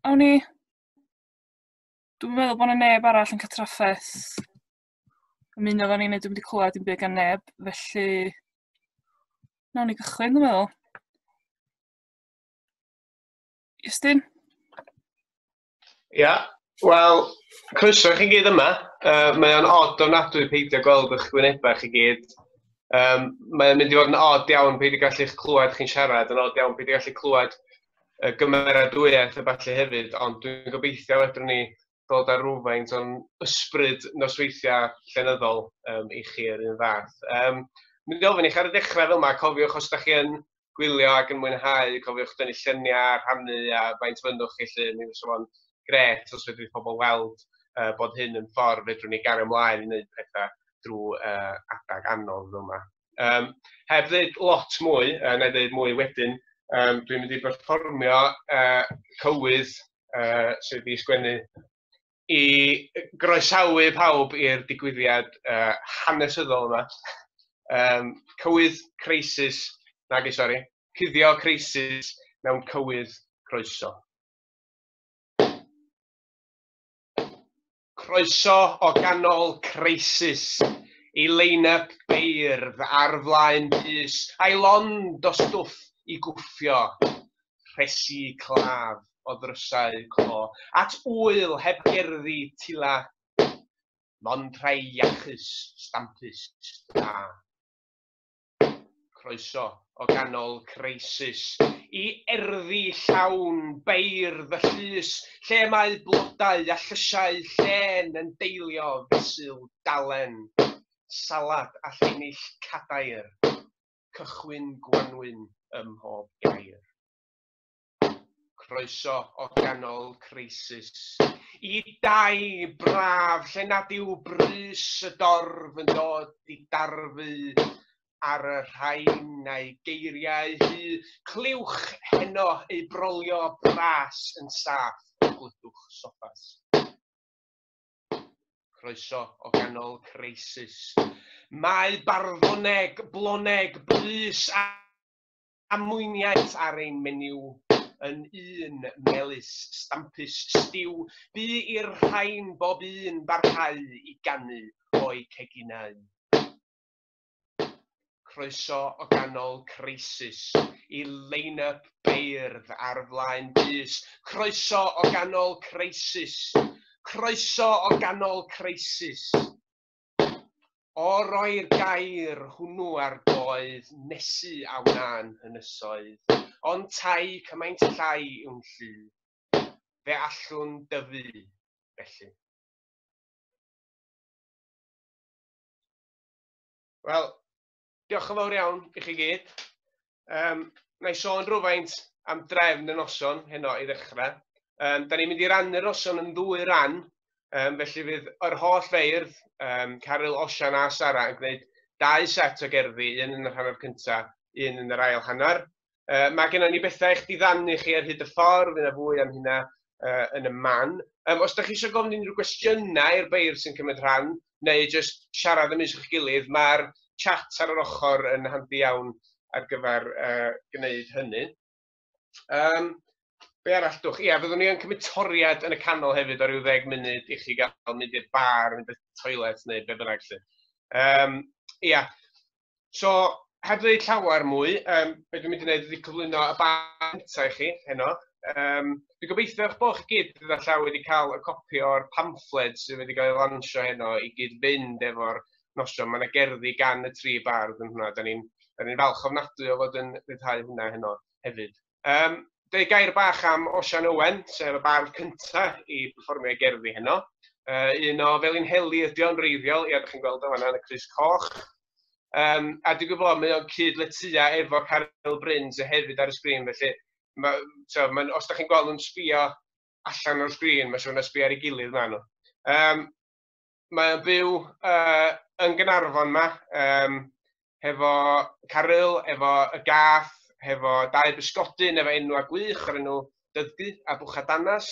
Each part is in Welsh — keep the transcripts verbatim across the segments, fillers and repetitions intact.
Awn ni. Dwi'n meddwl bod 'na neb arall yn cael trafferth ymuno efo ni, neu dwi'm 'di clywed dim byd gan neb, felly nawn ni gychwyn, dwi'n meddwl. Iestyn? Ia, wel, croeso i chi gyd yma. Uh, mae o'n od ofnadwy peidio gweld eich gwynebau chi gyd. Um, mae o'n mynd i fod yn od iawn peidio gallu eich clywed chi'n siarad, yn od iawn peidio gallu clywed y gymeradwyaeth a ballu hefyd, ond dwi'n gobeithio fedrwn ni ddod â rhywfaint o'n ysbryd nosweithiau llenyddol um, i chi yr un fath. Um, mynd i ofyn i chi ar y dechrau fel yma, cofiwch os da chi yn gwylio ac yn mwynhau, cofiwch dynnu lluniau, rhannu a faint fynnwch chi lly, mi fysa fo'n grêt os fedrith pobl weld uh, bod hyn yn ffordd fedrwn ni gario ymlaen i wneud pethau drwy uh, adag anodd fel yma. Um, heb ddweud lot mwy, uh, na i ddweud mwy wedyn, um, dwi'n mynd i berfformio uh, cywydd uh, sydd wedi sgwennu i groesawu pawb i'r digwyddiad uh, hanesyddol yma. Um, cywydd creisis, nagi sori, cuddio creisis mewn cywydd croeso. Croeso o ganol creisis i lein-up beirdd ar flaen bys, a'i lond o stwff i gwffio, rhesi claf o ddrysau clo, at ŵyl heb gerddi tila, mond rhai iachus, stampus, da. Croeso o ganol creisis, i erddi llawn beirdd y llys, lle mae blodau a llysiau llên yn deilio fesul dalen, salad a llinell cadair, cychwyn gwanwyn ym mhob gair. Croeso o ganol creisis, i dai braf lle nad yw brys y dorf yn dod i darfu ar y rhain a'i geiriau hu, clywch heno eu brolio bras yn saff o glydwch soffas. Croeso o ganol creisis. Mae barddoneg, bloneg, blys a mwyniaeth ar ein menyw yn un melys, stampus, stiw, bu i'r rhain bob un barhau i ganu o'i ceginau. Croeso o ganol creisis, i lein-up beirdd ar flaen bys. Croeso o ganol creisis, croeso o ganol creisis. O roi'r gair hwnnw ar goedd, nesu a wna'n hynysoedd, ond tai cymaint llai yw'n llu, fe allwn dyfu felly. Wel, diolch yn fawr iawn i chi gyd. Um, na i sôn rhywfaint am drefn y noson heno i ddechrau. Um, da ni'n mynd i rannu'r noson yn ddwy ran, um, felly fydd yr holl feirdd, um, Caryl, Osian a Sara yn gwneud dau set o gerddi, un yn yr hanner cyntaf, un yn yr ail hanner. Uh, mae gennym ni bethau eich diddanu chi ar hyd y ffordd, fydd yna fwy am hynna uh, yn y man. Um, os da chi eisiau gofyn unrhyw gwestiynau i'r beirdd sy'n cymryd rhan, neu jyst siarad ymysg eich gilydd, mae'r chat ar yr ochr yn handi iawn ar gyfer uh, gwneud hynny. Um, be arall dwch? Ia, fyddwn ni yn cymryd toriad yn y canol hefyd o ryw ddeg munud i chi gael mynd i'r bar, mynd i'r toilet neu be bynnag lly. Um, ia, so heb ddweud llawer mwy, um, be dwi'n mynd i wneud ydy cyflwyno y bardd cyntaf i chi heno. Um, dwi'n gobeithio eich bod chi gyd gyda llaw wedi cael y copi o'r pamffled sydd wedi cael ei lansio heno i gyd fynd efo'r noson. Mae yna gerddi gan y tri bardd yn hwnna. Da ni'n ni falch ofnadwy o fod yn rhyddhau hwnna heno hefyd. Um, Dweud gair bach am Osian Owen, sef y bardd cyntaf i perfformio gerddi heno. Uh, un o Felinheli ydi o'n wreiddiol, ia, ydych chi'n gweld o fan'na yn y crys coch. Um, a dwi'n gwybod, mae o'n cyd-letyia efo Caryl Bryn sydd hefyd ar y sgrin, felly ma, so, ma, os da chi'n gweld nhw'n sbio allan o'r sgrin, mae'n siŵr na sbio ar ei gilydd ma nhw. Um, mae o'n byw uh, yn Gaernarfon ma, um, hefo Caryl, efo y gath, hefo dau bysgodyn, efo enw a gwych o'r enw Dyddgu a Bwchadanas.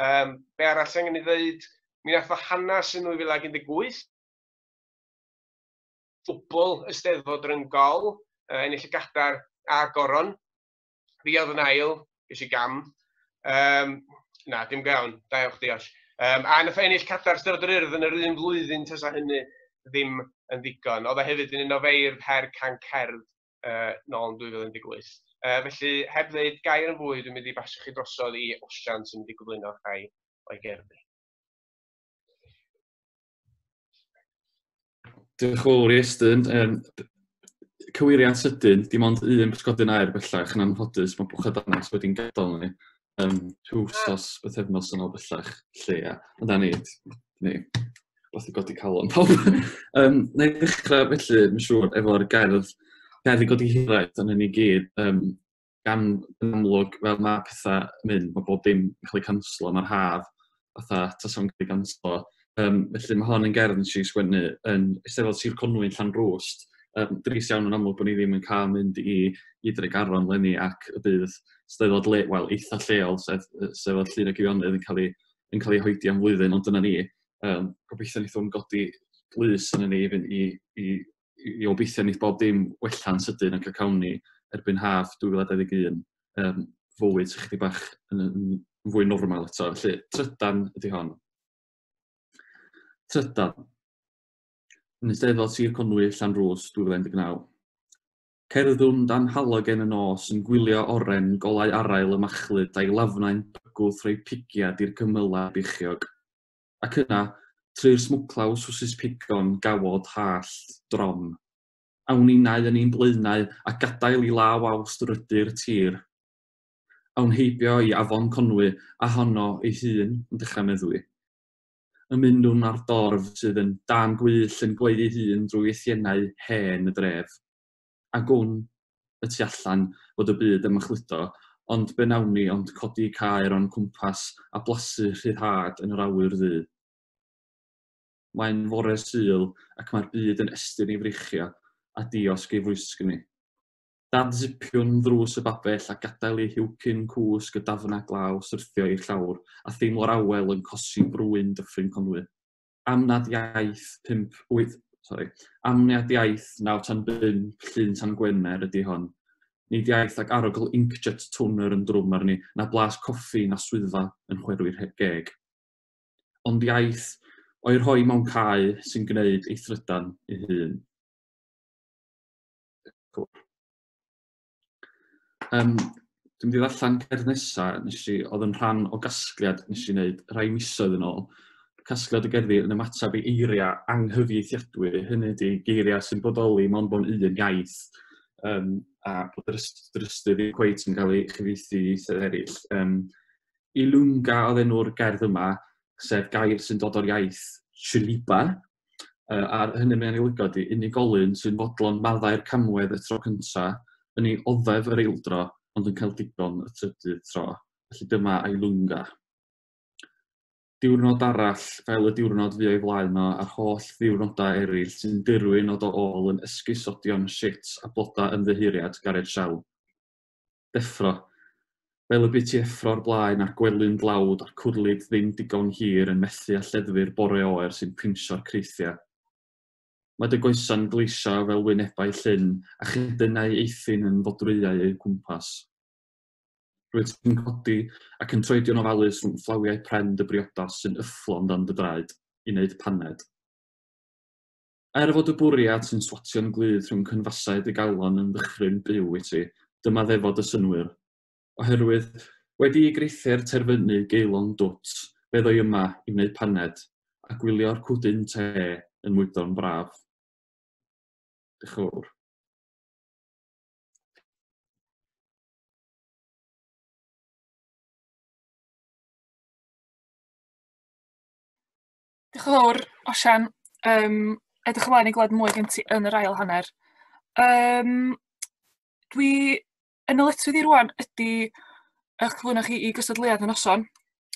Um, be arall angen i ddweud, mi nath o hanes yn nwy fil ag un deg wyth, dwbl y Steddfod Ryngol, uh, ennill y gadar a goron. Fi oedd yn ail, ges i gam. Um, Na, dim go iawn. Da iawn chdi, Osh. Um, a nath o ennill cadair Steddfod yr Urdd yn yr un flwyddyn tasa hynny ddim yn ddigon. Oedd o hefyd yn un o feirdd Her Can Cerdd uh, nôl yn dwy fil un deg wyth. Uh, felly, heb ddeud gair yn fwy, dwi'n mynd i basio chi drosodd i Osian sy'n mynd i gyflwyno rhai o'i gerddi. Diolch yn fawr i Estyn. Um, cywiriad sydyn, dim ond un pysgodyn aer bellach yn anffodus, mae bwchad danas wedi'n gadael ni. Um, wsos, bythefnos yn ôl bellach, lle ia. Ond na ni, ni, fath i godi calon pawb. um, na i ddechrau felly, mae'n siŵr, efo'r gerdd, gerdd i godi hiraeth yn ni gyd, um, gan yn amlwg, fel mae pethau mynd, mae bob dim yn cael ei canslo, mae'r haf, fatha, tasa'n cael ei ganslo. Um, felly mae hon yn gerdd nes i sgwennu yn Eisteddfod Sir Conwy yn Llanrwst. Um, drist iawn yn amlwg bod ni ddim yn cael mynd i, i Dregaron leni ac y bydd Steddfod le, wel, eitha lleol, sef, sef Llyn y Gyfionydd yn cael ei, yn cael ei hoedi am flwyddyn, ond dyna ni. Um, gobeithio wneith hwn godi blys yn ni i, i, i, i obeithio wneith bob dim wella'n sydyn ac y cawn ni erbyn haf dwy fil a dau ddeg un um, fywyd sy'n chydig bach yn, yn fwy normal eto. Felly, trydan ydy hon. Trydan. Yn Eisteddfod Sir Conwy, Llanrwst, dwy fil un deg naw. Cerddwn dan halogen y nos yn gwylio oren golau arail y machlud a'i lafnau'n bygwth rhoi pigiad i'r cymylau beichiog. Ac yna, trwy'r smwclaw swsys pigon, gawod, hallt, drom. Awn ninnau yn ein blaenau a gadael i law awst rydu'r tir. Awn heibio i Afon Conwy a honno ei hun yn dechrau meddwi. Ymunwn ar dorf sydd yn dan gwyll yn gweiddi hun drwy eithiennau hen y dref. A gwn y tu allan fod y byd yn machludo, ond be nawn ni ond codi caer o'n cwmpas a blasu rhyddhad yn yr awyr ddu. Mae'n fore Sul ac mae'r byd yn estyn ei freichiau a diosg ei fwysg ni. Dad-zipiwn ddrws y babell a gadael ei hiwcyn cwsg y dafna glaw syrthio i'r llawr a theimlo'r awel yn cosi brwyn Dyffryn Conwy. Am nad iaith pump wyth, sorry, am nad iaith naw tan bump llun tan Gwener ydy hon. Nid iaith ac arogl inkjet toner yn drwm arni, na blas coffi na swyddfa yn chwerwi'r geg. Ond iaith o'i rhoi mewn cae sy'n gwneud ei thrydan ei hun. Cool. Um, dwi'n mynd i ddarllen cerdd nesaf, nes i, oedd yn rhan o gasgliad nes i wneud rhai misoedd yn ôl. Casgliad o gerddi yn ymateb i eiriau anghyfieithiadwy, hynny ydy geiriau sy'n bodoli mewn bod un iaith, um, a bod yr ystyr ddim cweit yn cael ei chyfieithu i ieithoedd eraill. Um, Ilunga oedd enw'r gerdd yma, sef gair sy'n dod o'r iaith Chiliba, uh, a hynny mae'n ei olygu ydy unigolyn sy'n fodlon maddau'r camwedd y tro cyntaf, yn ei oddef yr eildro, ond yn cael digon y trydydd tro. Felly dyma Ilunga. Diwrnod arall, fel y diwrnod fu o'i flaen o, a'r holl ddiwrnodau eraill sy'n dirwyn o do ôl yn esgusodion shit a blodau ymddiheuriad Gareth Shell. Deffro. Fel y bu ti effro'r blaen a'r gwely'n dlawd a'r cwrlid ddim digon hir yn methu a lleddfu'r bore oer sy'n pinsio'r creithiau. Mae dy goesa'n gleisio fel wynebau llyn a chydynau eithin yn fodrwyau eu cwmpas. Rwyt ti'n codi ac yn troedio'n ofalus rhwng fflawiau pren dy briodas sy'n yfflon dan dy draed i wneud paned. Er fod y bwriad sy'n swatio'n glyd rhwng cynfasau dy galon yn ddychryn byw i ti, dyma ddefod y synnwyr. Oherwydd, wedi i greithiau'r terfynu geilon dwt, fe ddoi yma i wneud paned a gwylio'r cwdyn te yn mwydo'n braf. Diolch yn fawr. Diolch yn fawr, Osian. Um, edrych ymlaen i glywed mwy gen ti yn yr ail hanner. Um, dwi yn ddyletswydd i rwan ydy eich cyflwyno chi i gystadleuaeth y noson.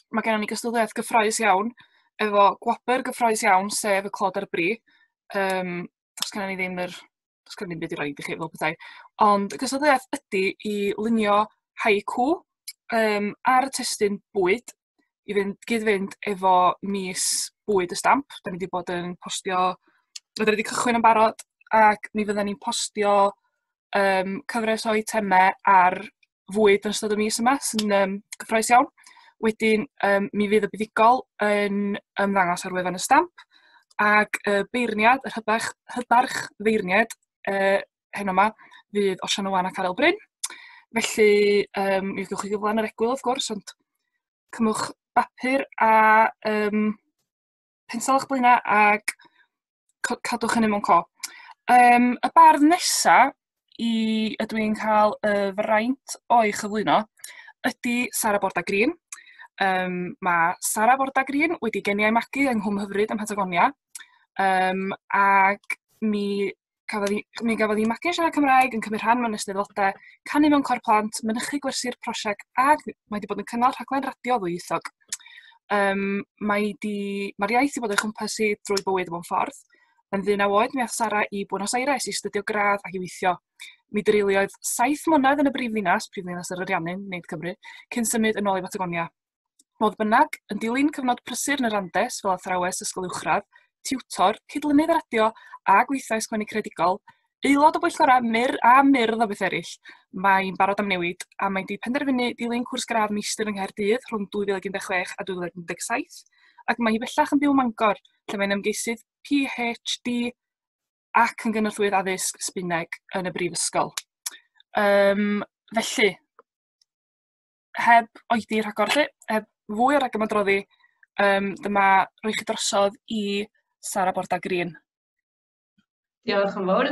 Mae gennym ni gystadleuaeth gyffrous iawn, efo gwobr gyffrous iawn, sef y clod ar y bri. Um, does gennym ni ddim yr, does gennym ni ddim byd i roid i chi fel petai. Ond y gystadleuaeth ydy i lunio haiku um, ar y testun bwyd, i fynd, gyd-fynd efo mis bwyd y stamp. Da ni wedi bod yn postio, da ni wedi cychwyn yn barod, ac mi fydden ni'n postio um, cyfres o eitemau ar fwyd yn ystod y mis yma, sy'n um, gyffrous iawn. Wedyn, um, mi fydd y buddugol yn ymddangos ar wefan y Stamp, ac y beirniad, yr hybarch, hybarch feirniad uh, heno yma, fydd Osian Owen ac Caryl Bryn. Felly, um, mi gewch chi gyfle yn yr egwyl, wrth gwrs, ond cymwch bapur a um, pensel o'ch blaenau ac cadwch hynny mewn co. Um, y bardd nesa i ydw i'n cael y fraint o'i chyflwyno ydy Sara Borda Green. Um, mae Sara Borda Green wedi geni a'i magu yng Nghwm Hyfryd ym Mhatagonia, um, ac mi cafodd hi, mi gafodd hi magu yn siarad Cymraeg, yn cymryd rhan mewn eisteddfodau, canu mewn côr plant, mynychu gwersi'r prosiect, ac mae wedi bod yn cynnal rhaglen radio ddwyieithog. Um, mae di, mae'r iaith wedi bod o'i chwmpas hi drwy bywyd mewn ffordd. Yn ddeunaw oed, mi aeth Sara i Buenos Aires i astudio gradd ac i weithio. Mi dreuliodd saith mlynedd yn y brifddinas, prifddinas yr Ariannin, nid Cymru, cyn symud yn ôl i Batagonia. Fodd bynnag, yn dilyn cyfnod prysur yn yr Andes fel athrawes ysgol uwchradd, tiwtor, cydlynydd radio a gweithiau sgwennu creadigol, aelod o bwyllgorau myr a myrdd o beth eraill, mae'n barod am newid a mae wedi penderfynu dilyn cwrs gradd meistr yng Nghaerdydd rhwng dwy fil ac un deg chwech a dwy fil ac un deg saith, ac mae hi bellach yn byw ym Mangor, lle mae'n ymgeisydd P H D ac yn gynorthwyydd addysg Sbaeneg yn y brifysgol. Um, felly, heb oedi rhagor lle, heb fwy o ragymadroddi, um, dyma roi chi drosodd i Sara Borda Green. Diolch yn fawr.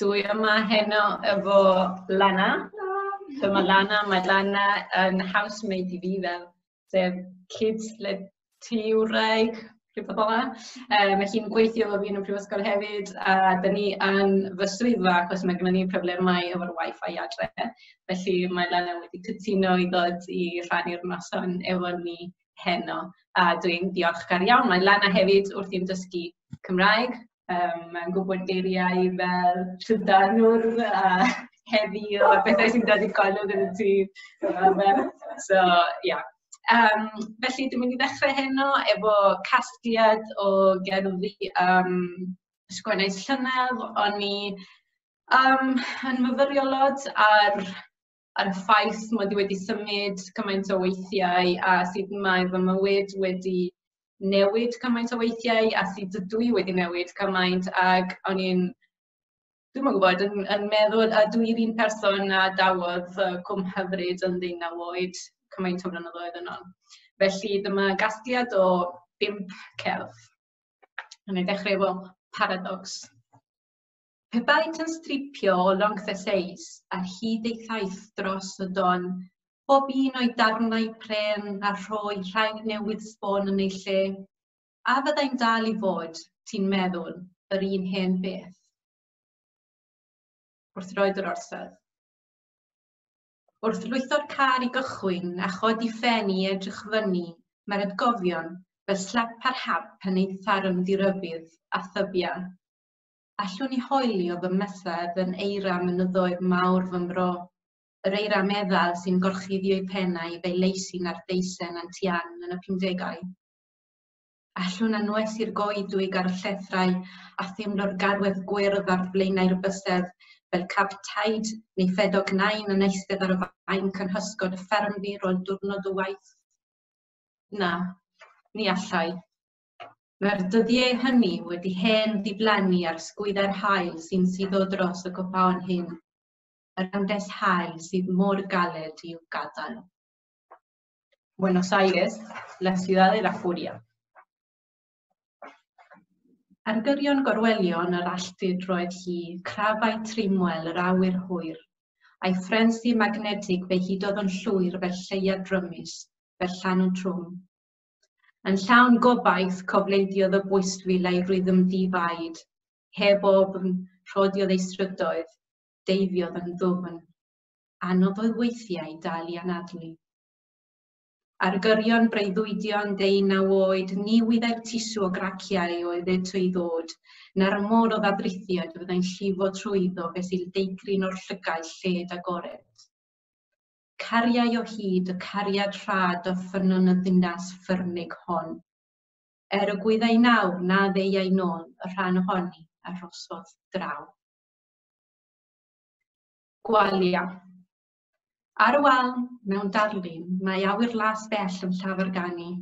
Dwi yma heno efo Lana. Dyma Lana, mae Lana yn housemate i fi fel, sef cyd-letiwraig, rhywbeth fel 'na. Um, mae hi'n gweithio efo fi yn y prifysgol hefyd, a dyn ni yn fy swyddfa achos mae gennym ni problemau efo'r Wi-Fi adre. Felly mae Lana wedi cytuno i ddod i rhannu'r noson efo ni heno, a dwi'n diolchgar iawn. Mae Lana hefyd wrthi'n dysgu Cymraeg. Um, mae'n gwybod geiriau fel trydanwr a heddiw a bethau sy'n dod i golwg yn y tŷ. So, yeah. Um, felly dwi'n mynd i ddechrau heno efo casgliad o gerddi um, sgwennais llynedd. O'n i um, yn myfyrio lot ar, ar y ffaith mod i wedi symud cymaint o weithiau a sut mae fy mywyd wedi newid cymaint o weithiau a sut ydw i wedi newid cymaint, ac o'n i'n, dwi'm yn gwybod, yn, yn meddwl, a dwi'n un person a dawodd uh, Cwm Hyfryd yn ddeunaw oed cymaint o flynyddoedd yn ôl. Felly dyma gasgliad o bump celf. Wna i ddechrau efo paradox. Pe baent yn stripio o long Theseus ar hyd ei thaith dros y don, bob un o'i darnau pren a rhoi rhai newydd sbon yn ei lle, a fyddai'n dal i fod, ti'n meddwl, yr un hen beth? Wrth roed yr orsedd. Wrth lwytho'r car i gychwyn a chodi ffen i edrych fyny, mae'r atgofion fel slap ar hap yn ei tharo'n ddirybudd a thybia. Allwn i hoelio fy mysedd yn eira mynyddoedd mawr fy mro, yr eira meddal sy'n gorchuddio'i pennau fel leisin ar deisen Antian yn y pumdegau. Allwn anwesu'r goedwig ar y llethrau a theimlo'r garwedd gwyrdd ar flaenau'r bysedd fel cap taid neu ffedog nain yn eistedd ar y faen cynhysgod y ffermdir o'r diwrnod o waith. Na, ni allai. Mae'r dyddiau hynny wedi hen ddiflannu ar sgwyddau'r haul sy'n suddo dros y copaon hyn, yr Andes haul sydd mor galed i'w gadael. Buenos Aires, la ciudad de la furia. Ar gyrion gorwelion yr alltud roedd hi, crafau trimwel yr awyr hwyr, a'i ffrensi magnetig fe hudodd yn llwyr fel lleuad drymus, fel llanw trwm. Yn llawn gobaith cofleidiodd y bwystfil a'i rhythm difaid, heb ofn rhodiodd ei strydoedd, deifiodd yn ddwfn. Anodd oedd weithiau dal i anadlu. Ar gyrion breuddwydion deunaw oed, ni wyddai'r tisw o graciau oedd eto i ddod, na'r môr o ddadrithiad fyddai'n llifo trwyddo fesul deigryn o'r llygau lled agored. Cariai o hyd y cariad rhad o ffynnon y ddinas ffyrnig hon. Er y gwyddai nawr na ddeuai nôl y rhan ohoni a rosodd draw. Gwalia. Ar y wal, mewn darlun, mae awyr las bell yn llafarganu.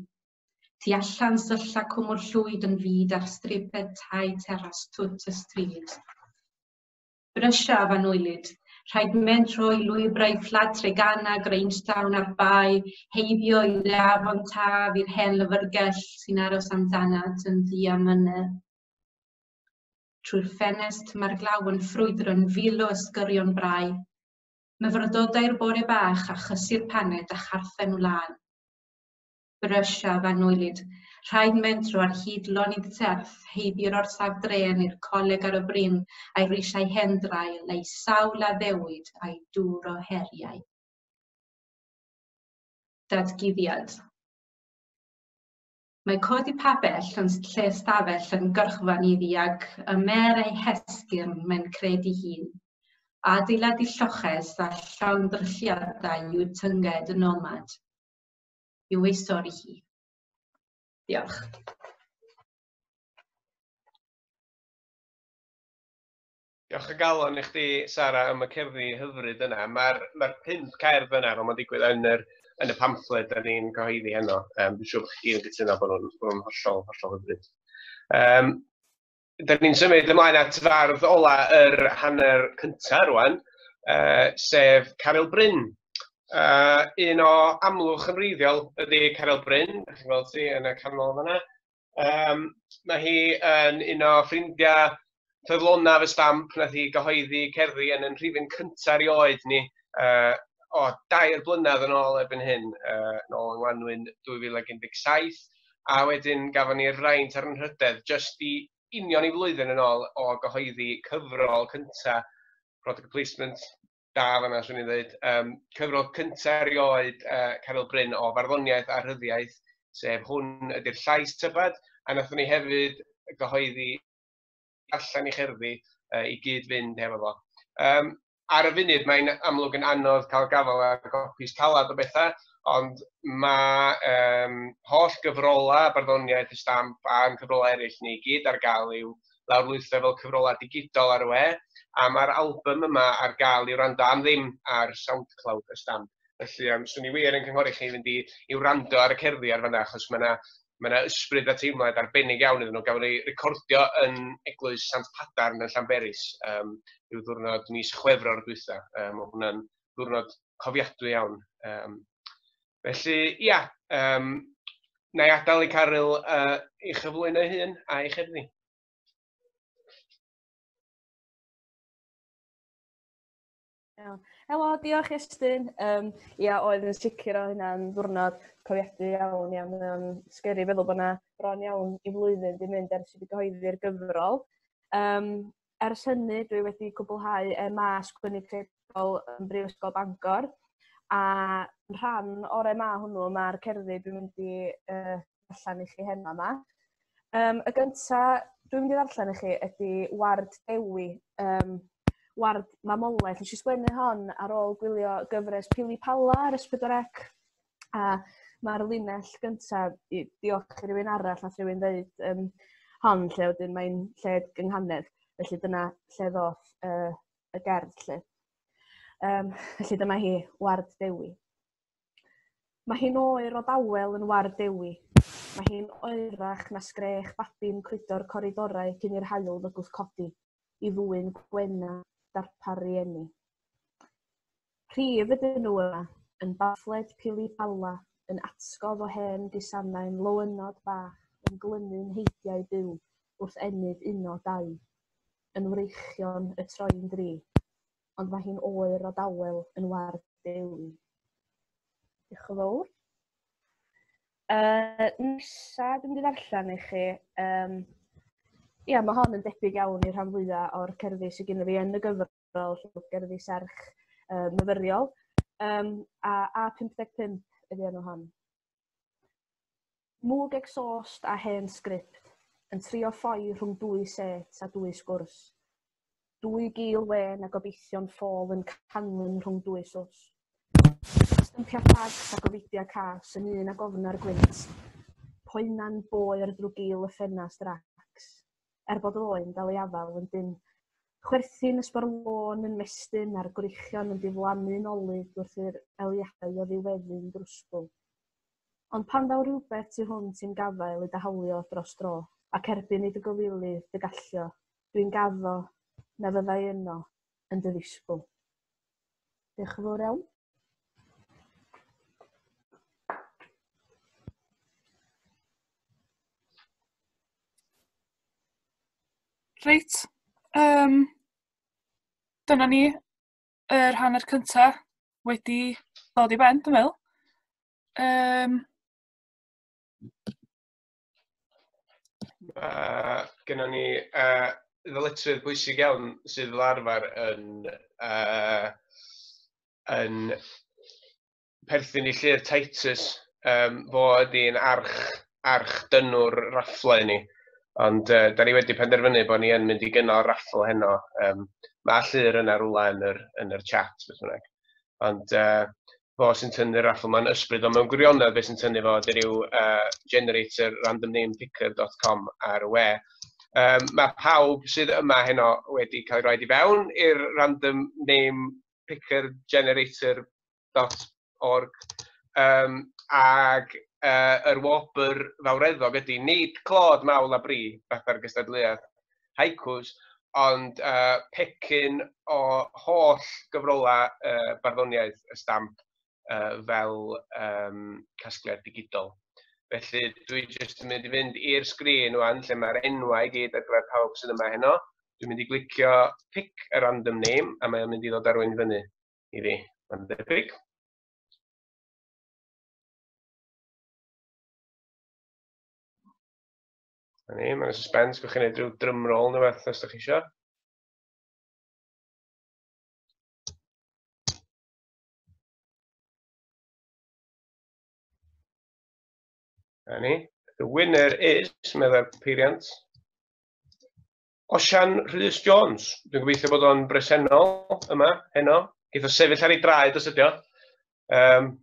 Tu allan sylla cwmwl llwyd yn fud ar stribed tai teras twt y stryd. Brysiaf anwylyd, rhaid mentro i lwybrau fflat Treganna, Grangetown a'r Bae, heibio i Afon Taf i'r hen lyfrgell sy'n aros amdanat yn ddiamynedd. Trwy'r ffenest mae'r glaw yn ffrwydro yn fil o ysgyrion brau. Myfyrdodau'r bore bach a chysur paned a charthen wlân. Brysiaf anwylyd, rhaid mentro ar hyd lonydd serth, heibio'r orsaf drên i'r coleg ar y bryn, a'i risiau hendrail, a'i sawl addewid, a'i dŵr o heriau. Datguddiad. Mae codi pabell yn lle stafell yn gyrchfan iddi ac ymer ei hesgyrn mae'n credu hun. Adeiladu lloches a llongddrylliadau i'w tynged y nomad. I'w ei stori hi. Diolch. Diolch o galon i chdi, Sara, am y cerddi hyfryd yna. Mae'r mae pump cerdd yna, fel mae'n digwydd yn, yr, yn y pamffled da ni'n cyhoeddi heno. Um, dwi'n siŵr bod chi gyd yn cytuno bod nhw'n bod nhw'n hollol, hollol hyfryd. Um, da ni'n symud ymlaen at fardd ola yr hanner cyntaf rwan, uh, sef Caryl Bryn. Uh, un o Amlwch yn wreiddiol ydy Caryl Bryn, da chi'n gweld hi yn y canol fan'na. Um, mae hi yn un o ffrindiau ffyddlonaf y Stamp, nath hi gyhoeddi cerddi yn yn rhifyn cyntaf erioed ni, uh, o dair blynedd yn ôl erbyn hyn, uh, nôl yng Ngwanwyn dwy fil ac un deg saith, a wedyn gafon ni'r fraint a'r anrhydedd jyst i union i flwyddyn yn ôl o gyhoeddi cyfrol cyntaf Product Placement, da fan'na, swn i'n dweud, um, cyfrol cyntaf erioed uh, Caryl Bryn o farddoniaeth a rhyddiaith, sef hwn ydy'r llais tybed, a nathon ni hefyd gyhoeddi allan i cherddi uh, i gyd fynd hefo fo. Um, ar y funud mae'n amlwg yn anodd cael gafael ar gopis calad o bethau, ond mae um, holl gyfrola barddoniaeth y Stamp a'n cyfrola eraill ni i gyd ar gael i'w lawrlwytho fel cyfrola digidol ar y we, a mae'r album yma ar gael i'w wrando am ddim ar SoundCloud y Stamp. Felly, um, swn i wir yn cynghori chi fynd i, i wrando ar y cerddi ar fan'na, achos mae yna mae yna ysbryd a teimlad arbennig iawn iddyn nhw. Gafodd ei recordio yn Eglwys Sant Padarn yn Llanberis, um, ryw ddiwrnod mis Chwefror dwytha. Um, oedd hwnna'n ddiwrnod cofiadwy iawn. Um, felly, ia, um, na i adael i Caryl uh, i chyflwyno ei hun a'i cherddi. Iawn. Helo, diolch Iestyn. Um, ia, oedd yn sicr o hynna'n ddiwrnod cofiadwy iawn. Ia, mae'n scary feddwl bod yna bron iawn i flwyddyn di mynd ers i fi gyhoeddi'r gyfrol. Um, ers hynny, dwi wedi cwblhau M A sgwennu creadigol yn Brifysgol Bangor. A yn rhan o'r M A hwnnw, mae'r cerddi dwi'n mynd i uh, darllen i chi heno yma. Um, y gynta dwi'n mynd i ddarllen i chi ydy Ward Dewi. Um, Ward mamolaeth. Nes i sgwennu hon ar ôl gwylio gyfres Pili Pala ar S pedwar C, a mae'r linell gyntaf, i, diolch i rywun arall, nath rywun ddeud um, hon, lle wedyn mae'n lled gynghanedd. Felly dyna lle ddoth uh, y gerdd lle. Um, felly dyma hi, Ward Dewi. Mae hi'n oer o dawel yn Ward Dewi. Mae hi'n oerach na sgrech babi'n crwydro'r coridorau cyn i'r haul fygwth codi i ddwyn gwena darpar rieni. Rhif ydyn nhw yma, yn baffled Pili Pala, yn atgof o hen gusanau'n lowynod bach, yn glynu'n heidiau byw wrth ennyd uno dau, yn wreichion y troi'n dri, ond mae hi'n oer o dawel yn Ward Dewi. Diolch yn fawr. Uh, nesa, dwi'n mynd i ddarllen i chi. Um, ia, mae hon yn debyg iawn i'r rhan fwyaf o'r cerddi sydd gennym fi yn y gyfrol, gerddi serch uh, myfyriol. Um, a A pump deg pump ydy enw hon. Mwg exhaust a hen sgript yn trio ffoi rhwng dwy set a dwy sgwrs. Dwy gil wen a gobeithio'n ffôl yn canlyn rhwng dwy sws. Stympia ffags a gofidia cas yn un ag ofna'r gwynt. Poena'n boer drwy gil y ffenast racs. Er bod oen dal ei afal yn dyn. Chwerthin ysbarlôn yn mestyn a'r gwreichion yn diflannu'n olud wrth i'r eliadau o ddiweddu'n drwsgwl. Ond pan ddaw rhywbeth tu hwnt i'm gafael i dy hawlio dros dro, ac erbyn i dy gywilydd dy gallio, dwi'n gaddo na fyddai yno yn dy ddisgwyl. Diolch yn fawr iawn. Reit, um, dyna ni, yr hanner cynta wedi dod i ben, dwi'n meddwl. Um, uh, Gynnon ni uh, ddyletswydd bwysig iawn sydd fel arfer yn, uh, yn perthyn i Llyr Titus, um, fo ydy'n arch, arch dynwr rafflau ni. Ond uh, da ni wedi penderfynu bod ni yn mynd i gynnal raffl heno. Um, mae Llyr yna rwla yn yr, yn yr chat, beth bynnag. Ond uh, fo sy'n tynnu'r raffl ma'n ysbryd, ond mewn gwirionedd beth sy'n tynnu fo ydy ryw uh, generator random name picker dot com ar y we. Um, mae pawb sydd yma heno wedi cael ei roed i fewn i'r random name picker generator dot org. Um, ag Uh, yr wobr fawreddog ydy nid clod mawl a bri fatha'r gystadleuaeth haikus, ond uh, pecyn o holl gyfrola uh, barddoniaeth y stamp uh, fel um, casgliad digidol. Felly dwi jyst yn mynd i fynd i'r sgrin wan lle mae'r enwau i gyd ar gyfer pawb sydd yma heno. Dwi'n mynd i glicio pick a random name a mae o'n mynd i ddod ar rywun fyny i fi. Mae'n debyg. Na ni, mae'n suspense, gwch chi'n neud rhyw drum roll neu beth os ydych chi isio. Na ni. The winner is, meddai'r peiriant, Osian Rhys Jones. Dwi'n gobeithio bod o'n bresennol yma, heno. Geith o sefyll ar ei draed os ydi o. Um,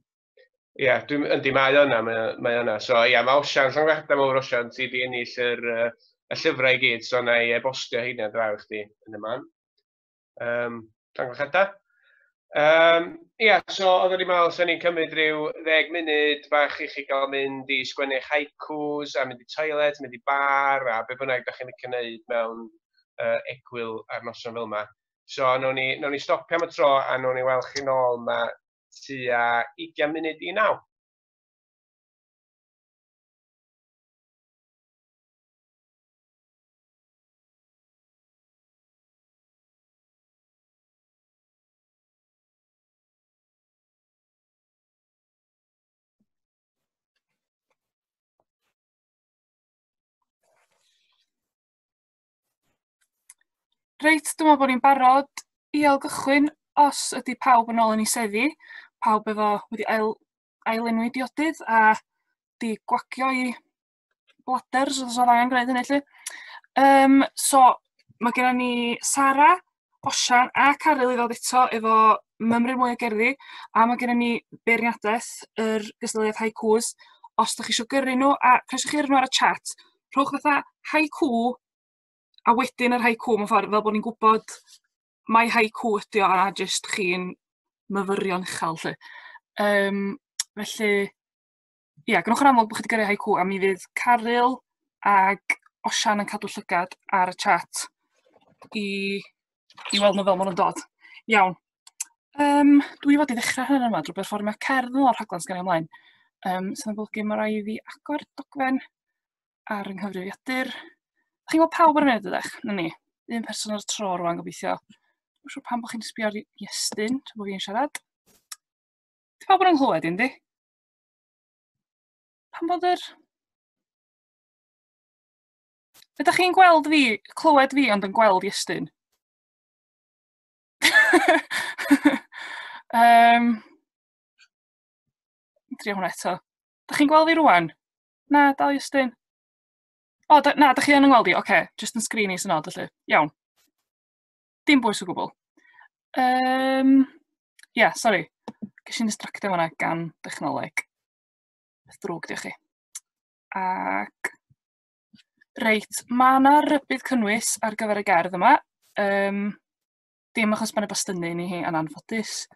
Ie, yeah, dwi'n yndi, mae o yna, mae, mae o yna. So ie, yeah, mae Osian, llongyfarchiadau mawr Osian, ti di ennill yr, uh, y llyfrau i gyd, so na i e-bostio heina draw i chdi yn y man. Um, llongyfarchiadau. Um, Ie, yeah, so oeddwn i'n meddwl, sa'n ni'n cymryd rhyw ddeg munud bach i chi gael mynd i sgwennu'ch haikus, a mynd i toilet, mynd i bar, a be bynnag da chi'n licio wneud mewn uh, egwyl ar noson fel yma. So nawn ni, nawn ni stopio am y tro, a nawn ni weld chi nôl ma tua ugain munud i naw. Reit, dwi'n meddwl bod ni'n barod i ailgychwyn os ydy pawb yn ôl yn ei seddi, pawb efo wedi ail, ailenwi diodydd a di gwagio i bladders, os oedd angen gwneud hynny lly. Um, so, mae gennym ni Sara, Osian a Caryl i ddod eto efo mymryn mwy o gerddi, a mae gennym ni beirniadaeth yr gystadleuaeth haikus. Os ydych chi eisiau gyrru nhw, a croeso chi gyrru nhw ar y chat, rhowch fatha haiku a wedyn yr haiku mewn ffordd, fel bod ni'n gwybod mai haiku ydi o a jyst chi'n myfyrio'n uchel lly. Um, felly, ia, gwnewch yn amlwg bod chi wedi gyrru haiku, a mi fydd Caryl ag Osian yn cadw llygad ar y chat i, i weld nhw fel maen nhw'n dod. Iawn. Um, dwi fod i ddechrau hynny yma drwy berfformio cerdd yn o'r rhaglen sgan i ymlaen. Um, sydd yn golygu mae rhaid i fi agor dogfen ar yng nghyfrifiadur. Chi'n gweld pawb ar y munud ydych? Na ni. Un person ar y tro rwan gobeithio. Dwi'n siŵr pam bod chi'n sbio ar Iestyn tra bod fi'n siarad. Di pawb yn nghlywed i, yndi? Pam bod yr... Ydych chi'n gweld fi, clywed fi, ond yn gweld Iestyn? um, Drio hwnna eto. Ydych chi'n gweld fi rwan? Na, dal Iestyn. O, da, na, da chi yn yngweld i? Oce, okay, just yn sgrin i sy'n od, felly. Iawn. Dim bwys o gwbl. Um, yeah, sorry. Ges i'n distractio fan'na gan dechnoleg. Beth drwg, diolch chi. Ac... Reit, mae yna rybudd cynnwys ar gyfer y gerdd yma. Um, dim achos bod 'na bastynnu ni hi yn anffodus.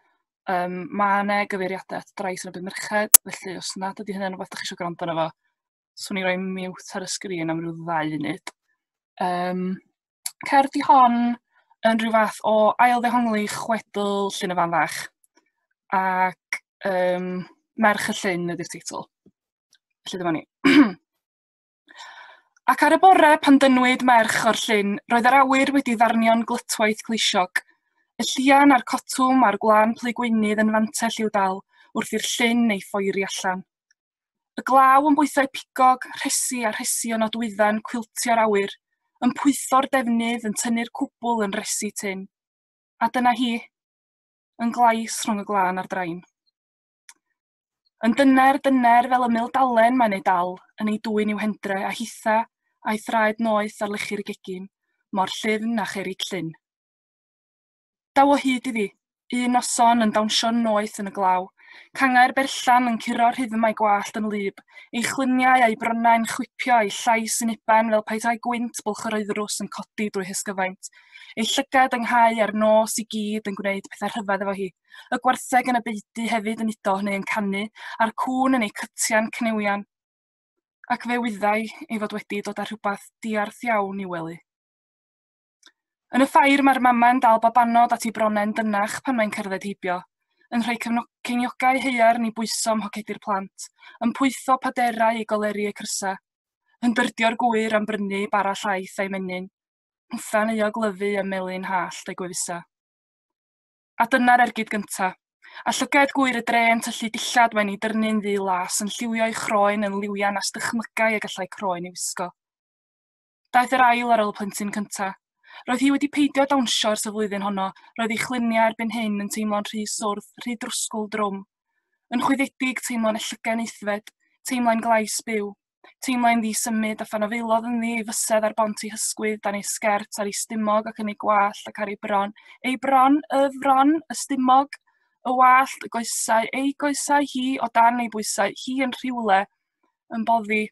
Um, mae yna gyfeiriadau at drais yn erbyn merched, felly os nad ydy hynny'n rhywbeth ydych chi eisiau gwrando arno fo, swn i roi mute ar y sgrin am ryw ddau funud. Um, cerdd di hon yn rhyw fath o ail-ddehongli chwedl Llyn y Fan Fach, ac um, Merch y Llyn ydy'r teitl. Felly dyma ni. Ac ar y bore pan dynwyd merch o'r llyn, roedd yr awyr wedi ddarnio'n glytwaith gleisiog. Y llian a'r cotwm a'r gwlân plu gweunydd yn fantell i'w dal wrth i'r llyn ei phoeri allan. Y glaw yn bwythau pigog, rhesi a rhesi o nodwydda'n cwiltio'r awyr, yn pwytho'r defnydd, yn tynnu'r cwbl yn resi tyn. A dyna hi, yn glais rhwng y glân a'r drain. Yn dyner, dyner fel ymyl dalen mae'n ei dal, yn ei dwyn i'w hendre, a hitha a'i thraed noeth ar lechi'r gegin, mor llyfn a cherrig llyn. Daw o hyd iddi, un noson yn dawnsio'n noeth yn y glaw, cangau'r berllan yn curo'r rhyddmau gwallt yn wlyb, ei chluniau a'i bronnau'n chwipio, ei llais yn uban fel petai gwynt bwlch yr oeddrws yn codi drwy hysgyfaint, ei llygad ynghau a'r nos i gyd yn gwneud pethau rhyfedd efo hi, y gwartheg yn y beudy hefyd yn udo neu yn canu, a'r cŵn yn ei cytian cnewian. Ac fe wyddai ei fod wedi dod â rhywbeth diarth iawn i'w wely. Yn y ffair mae'r mama'n dal babanod at ei bronau'n dynach pan mae'n cerdded heibio, yn rhoi ceiniogau haearn i bwyso ym mhocedi'r plant, yn pwytho paderau i goleri eu crysa, yn dyrdio'r gwyr am brynu bara llaeth a'i menyn, hwtha'n euog lyfu ym melyn hallt ei gwefusa. A dyna'r ergyd gynta, a llygad gwyr y dre yn tyllu dillad mae'n ei dyrnu'n ddu las, yn lliwio'i chroen yn liwiau nas dychmygai y gallai croen ei wisgo. Daeth yr ail ar ôl y plentyn cynta. Roedd hi wedi peidio dawnsio ers y flwyddyn honno, roedd ei chluniau erbyn hyn yn teimlo'n rhy swrth, rhy drwsgwl drwm. Yn chwyddedig teimlo'n ellygen aeddfed, teimlai'n glais byw, teimlai'n ddisymud a phan afaelodd ynddi ei fysedd ar bont ei hysgwydd dan ei sgert ar ei stumog ac yn ei gwallt ac ar ei bron. Ei bron, y fron, y stumog, y wallt, y goesau, ei goesau hi o dan ei bwysau, hi yn rhywle, yn boddi,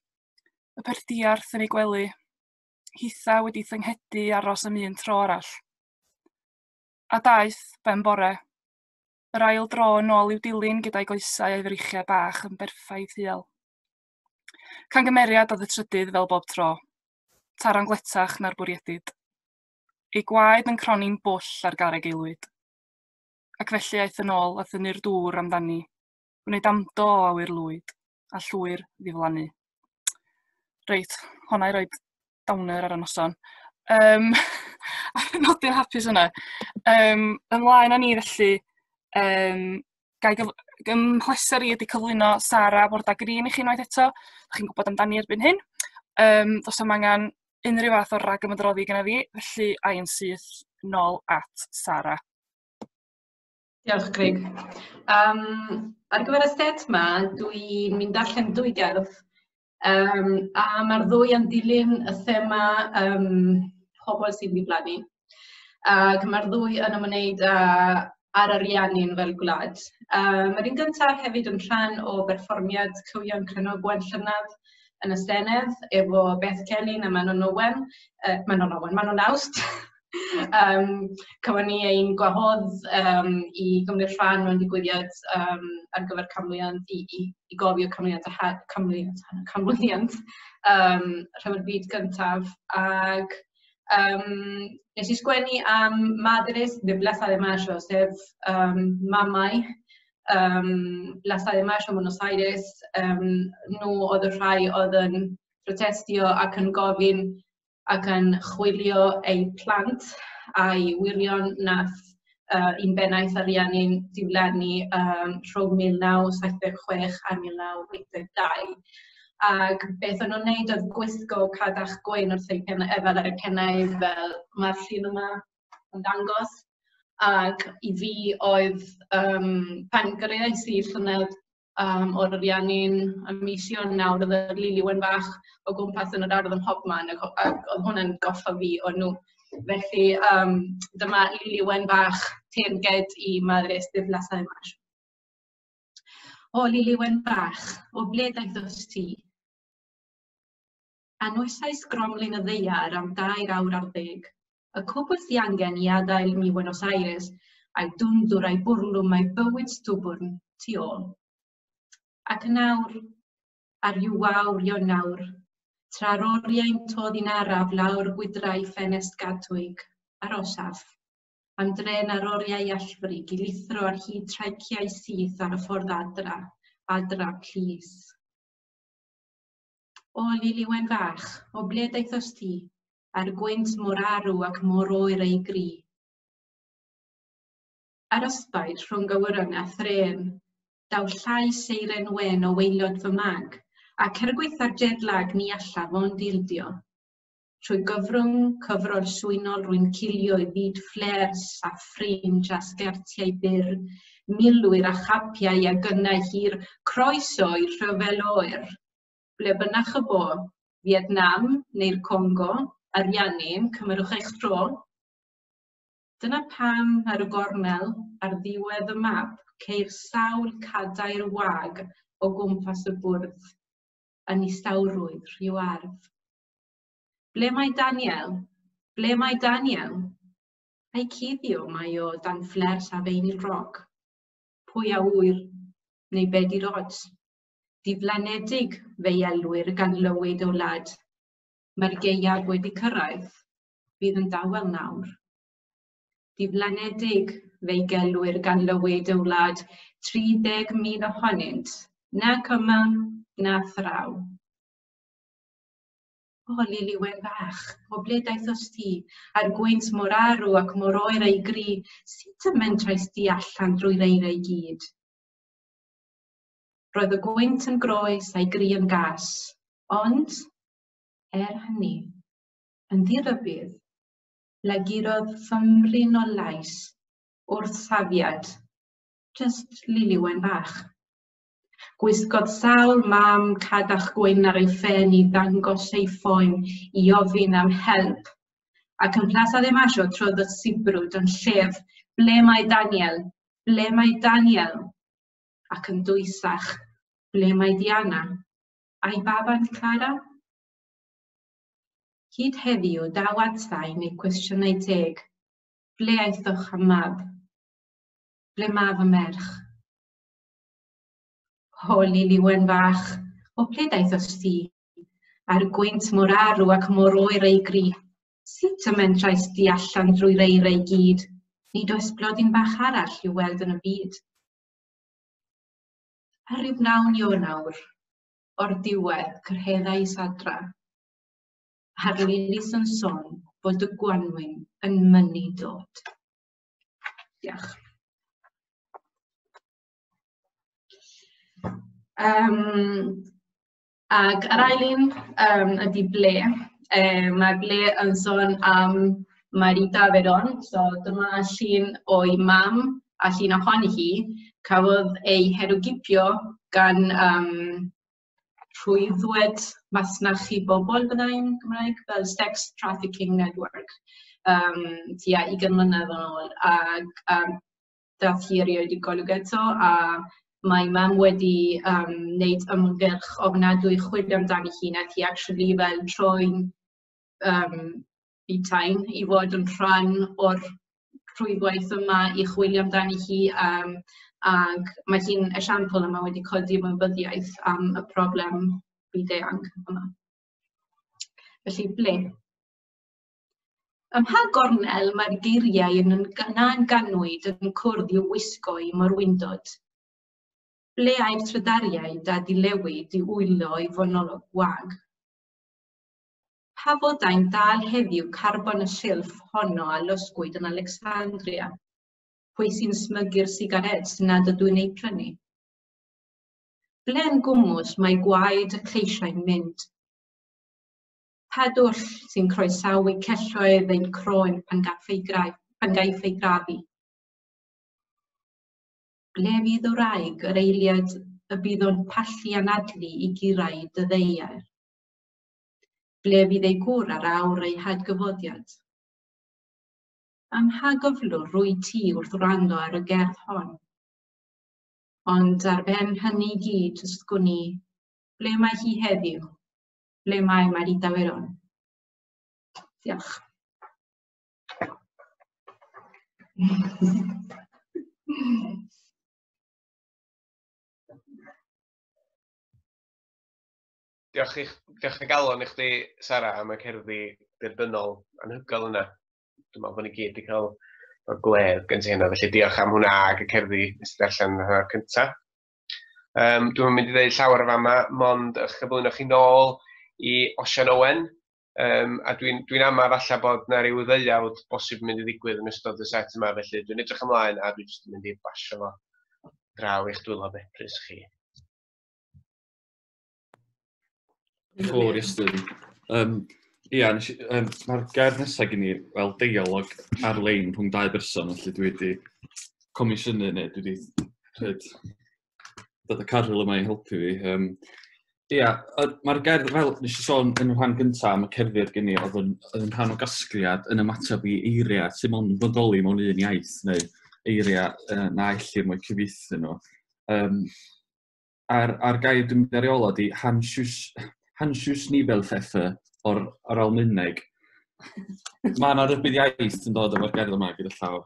y peth diarth yn ei gwely. Hitha wedi thynghedu aros am un tro arall. A daeth ben bore, yr ail dro yn ôl i'w dilyn gyda'i goesau a'i freichiau bach yn berffaith huel. Cangymeriad oedd y trydydd fel bob tro, taran gletach na'r bwriedid. Ei gwaed yn croni'n bwll ar garreg aelwyd. Ac felly aeth yn ôl a thynnu'r dŵr amdani, gwneud amdo o awyr lwyd, a llwyr ddiflannu. Reit, honna i roid downer ar y noson. Um, nodyn hapus yna. Um, ymlaen â ni felly, um, gai gyf- ym mhleser i ydy cyflwyno Sara Borda Green i chi unwaith eto. Dach chi'n gwybod amdani erbyn hyn. Um, does 'am angen unrhyw fath o ragymydroddi gyda fi, felly a i'n syth nôl at Sara. Diolch, Craig. Um, ar gyfer y set yma, dwi'n mynd darllen dwy gerdd, um, a mae'r ddwy yn dilyn y thema um, pobl sy'n diflannu. Ac mae'r ddwy yn ymwneud â, â'r Ariannin fel gwlad. Um, mae'r un gyntaf hefyd yn rhan o berfformiad Cywion Cranogwen llynedd yn y Senedd efo Beth Celyn a Manon Owen, uh, Manon Owen, Manon Awst. um, Cafon ni ein gwahodd um, i gymryd rhan mewn digwyddiad um, ar gyfer canmlwyddiant, i, i, i gofio canmlwyddiant, a canmlwyddiant, canmlwyddiant um, Rhyfel Byd Gyntaf. Ac um, nes i sgwennu am Madres de Plaza de Mayo, sef um, mamau um, Plaza de Mayo, Buenos Aires, um, nhw oedd y rhai oedd yn protestio ac yn gofyn ac yn chwilio eu plant a'i wyrion nath uh, un bennaeth Ariannin diflannu um, rhwng mil naw saith deg chwech a mil naw wyth deg dau. Ac beth o'n nhw'n neud oedd gwisgo cadach gwyn wrth eu pennau, fel ar eu pennau, fel mae'r llun yma yn dangos. Ac i fi oedd, um, pan gyrraeddais i llynedd um, o'r Ariannin ym mis Ionawr, oedd y Lili Wen Fach o gwmpas yn yr ardd ym mhobman, ac, ac oedd hwnna'n goffa fi o nhw. Felly um, dyma Lili Wen Fach teyrnged i Madres de Plaza de Mayo. O Lili Wen Fach, o ble daethost ti? Anwesais gromlin y ddaear am dair awr ar ddeg, Y cwbl sy angen i adael mi Buenos Aires a'i dwndwr a'i bwrlwm a'i bywyd stwbwrn tu ôl. Ac yn awr, ar ryw wawr Ionawr, tra'r oriau'n toddi'n araf lawr gwydrau ffenest gadwig, arosaf, am dren ar oriau allfrig i lithro ar hyd traiciau syth ar y ffordd adra, adra plîs. O Lili Wen fach, o ble daethost ti, a'r gwynt mor arw ac mor oer ei gri? Ar ysbaid rhwng awyren a thrên, daw llais seiren wen o waelod fy mag, ac er gwaetha'r jet lag ni allaf ond ildio. Trwy gyfrwng cyfrol swynol rwy'n cilio i fyd fflêrs a ffrinj a sgertiau byr, milwyr a chapiau a gynnau hir, croeso i'r rhyfel oer. Ble bynnag y bo, Vietnam neu'r Congo, Ariannin, cymerwch eich tro. Dyna pam ar y gornel, ar ddiwedd y map, ceir sawl cadair wag o gwmpas y bwrdd, yn istawrwydd rhyw ardd. Ble mae Daniel? Ble mae Daniel? A'i cuddio mae o dan fflers a feinyl roc. Pwy a ŵyr, neu be di'r ods? Diflanedig fe'i elwir gan lywyd o wlad. Mae'r gaeaf wedi cyrraedd, bydd yn dawel nawr. Diflanedig fe'i gelwir gan lywyd y wlad, tri deg mil ohonynt, nac yma, na thraw. O, Lili Wen fach, o ble daethost ti, a'r gwynt mor arw ac mor oer ei gri, sut y mentraist di allan drwy'r eira i gyd? Roedd y gwynt yn groes a'i gri yn gas, ond, er hynny, yn ddirybudd, lagurodd fymryn o lais wrth safiad, jyst Lili Wen fach. Gwisgodd sawl mam cadach gwyn ar ei phen i ddangos ei phoen i ofyn am help, ac yn Plaza de Mayo trodd y sibrwd yn llef, ble mae Daniel? Ble mae Daniel? Ac yn dwysach, ble mae Diana? A'i baban Clara? Hyd heddiw daw atsain neu cwestiynau teg. Ble aethoch am mab? Ble ma fy merch? O, Lili Wen fach, o ble daethost ti? A'r gwynt mor arw ac mor oer ei gri. Sut y mentraist di allan drwy'r eira i gyd? Nid oes blodyn bach arall i'w weld yn y byd. Ar ryw wnawn Ionawr, o'r diwedd cyrhaeddais adra, a'r lilis yn sôn bod y gwanwyn yn mynnu dod. Diolch. Um, ac yr ail un um, ydy Ble. Um, mae Ble yn sôn am Marita Verón, so dyma llun o'i mam a llun ohoni hi. Cafodd ei herwgipio gan um, rhwyddwed masnachu bobl byddai'n Gymraeg, fel Sex Trafficking Network, um, tua ugain mlynedd yn ôl, ac um, dath hi erioed i golwg eto, a mae mam wedi um, wneud ymgyrch ofnadwy chwilio amdani hi, nath hi actually fel troi'n um, butain i fod yn rhan o'r rhwydwaith yma i chwilio amdani hi, um, ac mae hi'n esiampl yma wedi codi ymwybyddiaeth am y broblem byd-eang yma. Felly, ble? Ym mha gornel mae'r geiriau yn na'n ganwyd yn cwrdd i'w wisgo i morwyndod? Ble ai'r trydariaid a dilewyd i wylo i fonolog gwag? Pa fodau'n dal heddiw carbon y silff honno a losgwyd yn Alexandria? Pwy sy'n smygu'r sigarets nad ydw i'n eu prynu? Ble'n gwmws mae gwaed y cleisiau'n mynd? Pa dwll sy'n croesawu celloedd ein croen pan gaiff ei pan gaiff ei grafu? Ble fydd y wraig yr eiliad y bydd o'n pallu anadlu i gyrraedd y ddaear? Ble fydd ei gŵr ar awr ei hadgyfodiad? Am mha gyflwr rwy ti wrth wrando ar y gerdd hon? Ond ar ben hynny i gyd, ysgwn i, ble mae hi heddiw? Ble mae Marita Verón? Diolch. Diolch i, diolch i galon i chdi, Sara, am y cerddi derbynnol anhygoel yna. Dwi'n meddwl bod ni gyd wedi cael o'r gwledd gen ti hynna, felly diolch am hwnna ag y cerddi nes i ddarllen yn hanner cyntaf. Um, dwi'n mynd i ddeud llawer o fama, mond eich cyflwyno chi nôl i Osian Owen, um, a dwi'n dwi ama falle bod na ryw ddeuawd bosib yn mynd i ddigwydd yn ystod y set yma, felly dwi'n edrych ymlaen a dwi'n jyst yn mynd i basio fo draw i'ch dwylo beprys chi. Ffwr Iestyn. Um, ia, nes i, um, mae'r gerdd nesaf gen i fel deialog ar-lein rhwng dau berson, felly dwi wedi comisiynu neu dwi wedi rhaid dod y Caryl yma i helpu fi. Um, ia, mae'r gerdd, fel nes i sôn yn y rhan gyntaf am y cerddi gen i, oedd yn, oedd yn rhan o gasgliad yn ymateb i eiriau sy'n mond yn bodoli mewn un iaith, neu eiriau uh, na ellir mo'u cyfieithu nhw. Um, a'r, a'r gair dwi'n mynd ar ei ola ydi Hansius, Hansius Nibelpfeffer o'r, o'r Almaeneg. Mae yna rybudd iaith yn dod efo'r gerdd yma gyda llaw.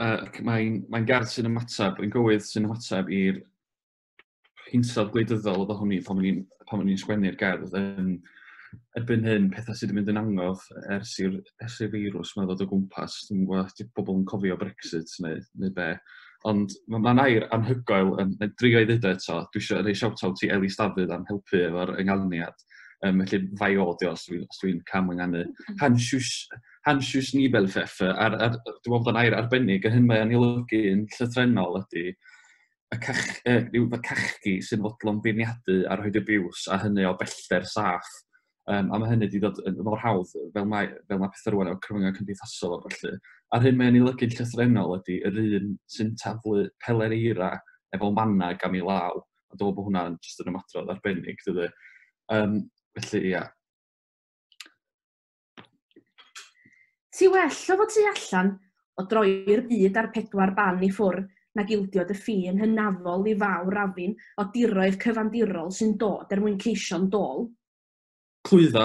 Uh, Mae'n mae gerdd sy'n ymateb, yn gywydd sy'n ymateb i'r hinsawdd gwleidyddol oedd ohoni pan o'n i'n pan o'n i'n sgwennu'r gerdd. Um, erbyn hyn, pethau sydd wedi mynd yn angof ers i'r ers i'r feirws yma ddod o gwmpas. Dwi'n gwybod os pobl yn cofio Brexit neu, neu be. Ond mae'n ma air anhygoel, um, neu drio i ddweud o eto, dwi eisiau rhoi shout-out i Elis Dafydd am helpu efo'r ynganiad. Um, felly fai o di os dwi'n dwi cam ynganu. Hansius, Hansius Nibelpfeffer, ar, ar, dwi'n meddwl bod o'n air arbennig, a hyn mae'n ei olygu yn llythrennol ydy y cach, eh, ryw y cachgi sy'n fodlon beirniadu a rhoid abuse, a hynny o bellter saff. Um, a mae hynny wedi dod yn mor hawdd fel mae, fel mae pethau rwan efo cyfryngau cymdeithasol a felly. A'r hyn mae'n ei olygu'n llythrennol ydy yr un sy'n taflu peler eira efo manag am ei law. A dwi'n meddwl bod hwnna'n jyst yn ymadrodd arbennig, dydy. Um, felly, ia. Ti well o fod tu allan o droi'r byd ar pedwar ban i ffwrdd nag ildio dy ffin hynafol i fawr afin o diroedd cyfandirol sy'n dod er mwyn ceisio'n dôl. Clwydda,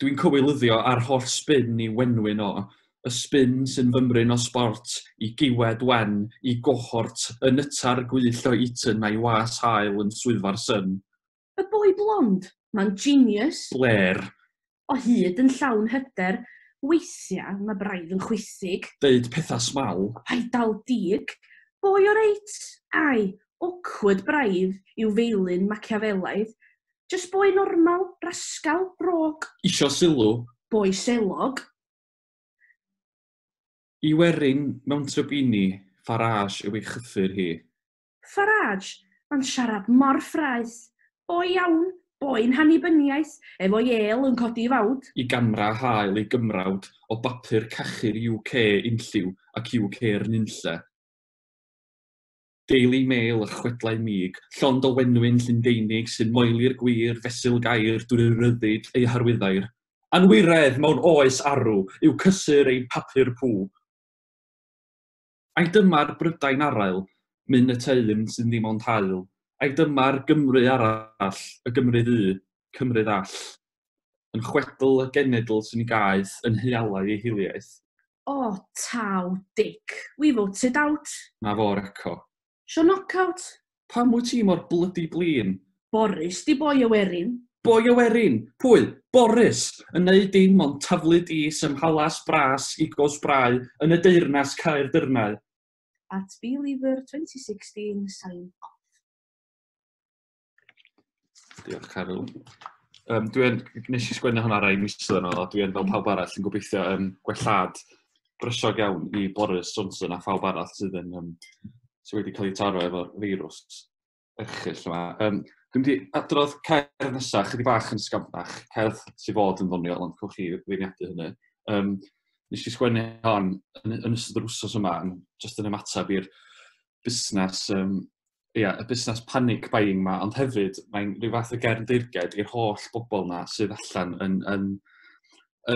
dwi'n cywilyddio ar holl spin i wenwyn o. Y spin sy'n fymryn o sbort, i giwed wen, i gohort, y nytar gwyll o Eton a'i was hael yn swyddfa'r Sun. Y boi blond, mae'n genius. Blair. O hyd yn llawn hyder, weithiau mae braidd yn chwithig. Deud pethau smal. Paid dal dig. Boi o reit, ai, awkward braidd i'w feilyn Machiavelaidd. Just boi normal, rascal, rog. Isio sylw. Boi selog. I werin mewn trybini, Farage yw ei chyffur hi. Farage, mae'n siarad mor ffraeth. Boi iawn, boi'n hannibyniaeth, efo el yn codi fawd. I gamra hael ei gymrawd o bapur cachu'r U K unlliw ac U K'r nunlle. Daily Mail a chwedlau mig, llond o wenwyn Llundeinig sy'n moeli'r gwir fesul gair drwy ryddid ei harwyddair. Anwiredd mewn oes arw yw cysur ein papur pŵ. Ai dyma'r Brydain arail, myn y teim sy'n ddim ond hael. Ai dyma'r Gymru arall, y Gymru ddu, Cymru ddall. Yn chwedl y genedl sy'n ei gaeth, yn hualau ei hiliaeth. O, taw, dick, we voted out. Na fo'r eco. Sio knockout. Pam wyt ti mor blydi blin? Boris di boi y werin. Boi y werin? Pwy? Boris! Yn neud dim ond taflu dis ym mhalas bras i gosbrau yn y deyrnas Caer Dyrnau. At Believer twenty sixteen, sign off. Diolch, Caryl. Um, dwi'n, nes i sgwennu hwnna rai misoedd yn ôl, a dwi'n fel pawb arall yn gobeithio um, gwellhad brysiog iawn i Boris Johnson a phawb arall sydd yn um, sydd wedi cael ei taro efo'r feirws erchyll yma. Um, dwi'n mynd i adrodd cerdd nesaf, chydig bach yn sgafnach, cerdd sydd fod yn ddoniol, ond cewch chi feirniadu hynny. Um, nes i sgwennu hon yn, yn ystod yr wsos yma, yn, jyst yn ymateb i'r busnes, um, ia, y busnes panic buying ma, ond hefyd mae'n rhyw fath o gerdd deyrnged i'r holl bobl na sydd allan yn, yn,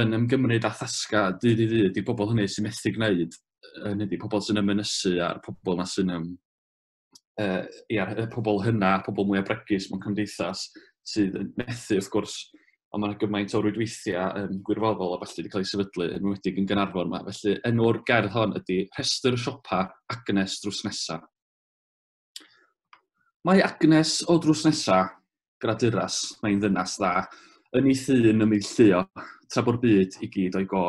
yn ymgymryd â thasga dydd i ddydd, i'r bobl hynny sy'n methu gwneud, hynny ydi pobl sy'n ymynysu a'r pobl na sy'n um, uh, ia, y pobl hynna, pobl mwyaf bregus mewn cymdeithas sydd yn methu wrth gwrs Ond mae yna gymaint o rwydweithiau um, gwirfoddol a felly wedi cael ei sefydlu, yn enwedig yn Gaernarfon yma. Felly enw'r gerdd hon ydy Rhestr Siopa Agnes Drws Nesa. Mae Agnes o drws nesa, graduras, mae'n ddynas dda, yn ei thŷ'n ymneilltuo, tra bo'r byd i gyd o'i go.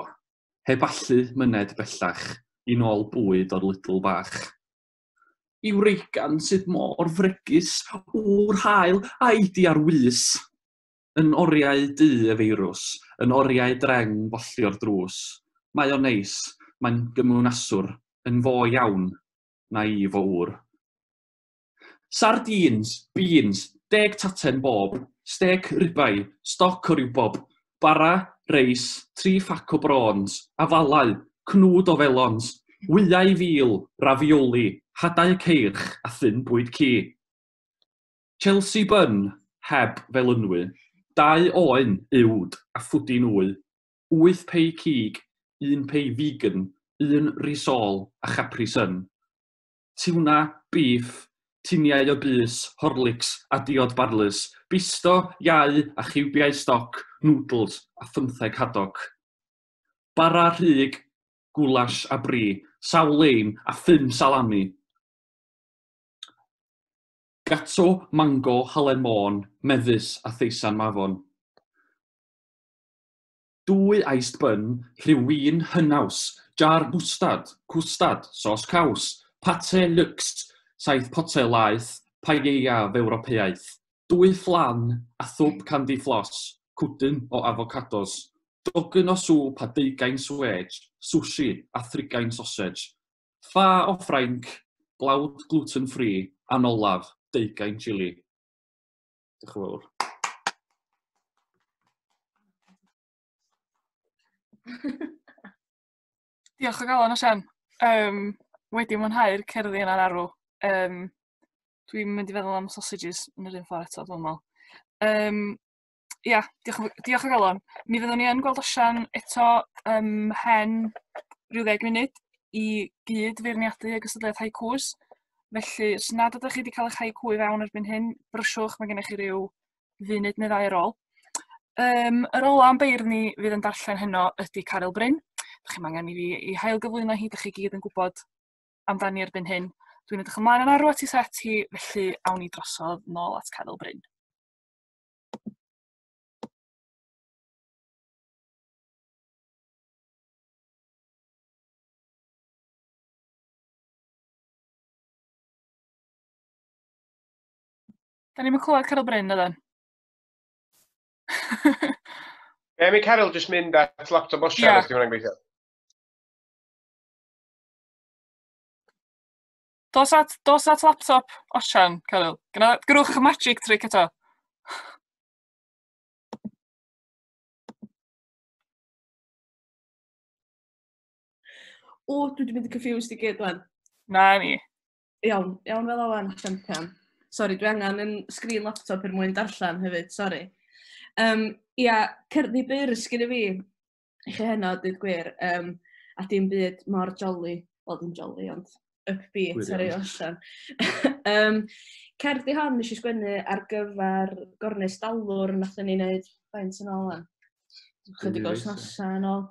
Heb allu myned bellach i nôl bwyd o'r Lidl bach. I wreigan sydd mor fregus, wr hael a'i di ar wys. Yn oriau du y feirws, yn oriau dreng bollio'r drws. Mae o'n neis, mae'n gymwynaswr, yn fo iawn, na i fo ŵr. Sardines, beans, deg taten bob, stec ribeye, stoc o riwbob, bara, reis, tri phac o brons, afalau, cnwd o felons, wyau fil, ravioli, hadau ceirch a thyn bwyd ci. Chelsea bun, heb felynwy, dau oen uwd a phwdin wy, wyth pei cig, un pei vegan, un risol a Capri Sun. Tiwna, beef, tiniau o bys, Horlicks a diod barlys, bisto, iau a chiwbiau stoc, noodles a phymtheg hadog. Bara rhug, goulash a brie, sawl leim a phum salami. Gato, mango, halen môn, mefus a theisan mafon. Dwy iced bun, rhyw win hynaws, jar mwstad, cwstad, sos caws, pate lux, saith potel laeth, paella Ewropeaidd, dwy fflan a thwb candy floss, cwdyn o avocados, dogyn o sŵp a deugain swêj, sushi a thrigain sausage, ffa o Ffrainc, blawd gluten-free, a'n olaf, deugain chili. Diolch yn fawr. Diolch o galon, Osian. Um, wedi mwynhau'r cerddi yna'n arw. Um, dwi'n mynd i feddwl am sausages yn yr un ffordd eto, dwi'n meddwl. Um, ia, diolch, diolch o galon. Mi fyddwn ni yn gweld Osian eto um, hen rhyw ddeg munud i gyd feirniadu y gystadleuaeth haikus. Felly, os nad ydych chi wedi cael eich haiku i fewn erbyn hyn, brysiwch, mae gennych chi ryw funud neu ddau ar ôl. Um, yr ola am beirdd ni fydd yn darllen heno ydy Caryl Bryn. Dych chi'm angen i fi i hail gyflwyno hi, dych chi gyd yn gwybod amdani erbyn hyn. Dwi'n edrych ymlaen yn arw at ei set hi, felly awn ni drosodd nôl at Caryl Bryn. Da ni'n clywed Caryl Bryn, ydan? Be am i Caryl jyst mynd at laptop Osian yeah. Os di hwnna'n gweithio? Dos at, dos at laptop Osian, Caryl. Grwch y magic trick eto. O, dwi wedi mynd yn confused i gyd wan. Na ni. Iawn, iawn fel o wan, champion. Sori, dwi angen yn sgrin laptop er mwyn darllen hefyd, sori. Um, ia, cerddi byr sgynna fi i chi heno, dweud gwir, um, a dim byd mor jolly, wel dim jolly, ond upbeat ar ei Osian. um, cerddi hon nes i sgwennu ar gyfer gornest dalwr nathon ni wneud faint yn ôl wan. Chydig o wythnosau yn ôl.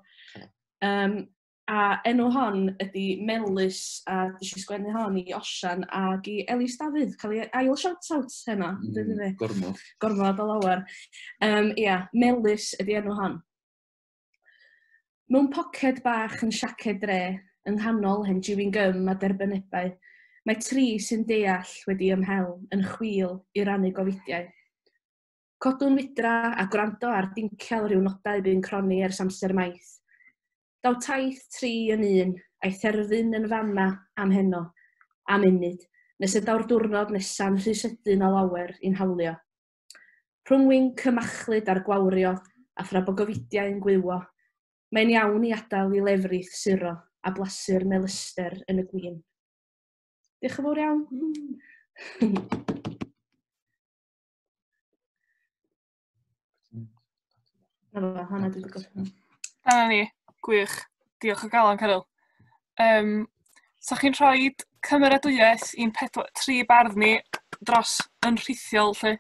Um, a enw hon ydy Melys, a nes i sgwennu hon i Osian ac i Elis Dafydd, cael ei ail shout-out heno. Mm, gormod. Gormod o lawer. Um, ia, Melys ydy enw hon. Mewn poced bach yn siaced dre, yng nghanol hen chewing gum a derbynebau, mae tri sy'n deall wedi ymhel yn chwil i rannu gofidiau. Codwn wydra a gwrando ar dincial rhyw nodau bu'n croni ers amser maith. Daw taith tri yn un, a'i therfyn yn fama am heno, am munud, nes y daw'r diwrnod nesa'n rhy sydyn o lawer i'n hawlio. Rhwng winc y machlud a'r gwawrio, a thra bo gofidiau yn gwywo, mae'n iawn i adael i lefrith suro a blasu'r melyster yn y gwin. Diolch yn fawr iawn. Na fo, hwnna dwi wedi gorffen. Dyna ni. Gwych. Diolch o galon, Caryl. Um, so chi'n rhoi cymeradwyaeth i'n pedwar, tri bardd ni dros yn rhithiol, lle?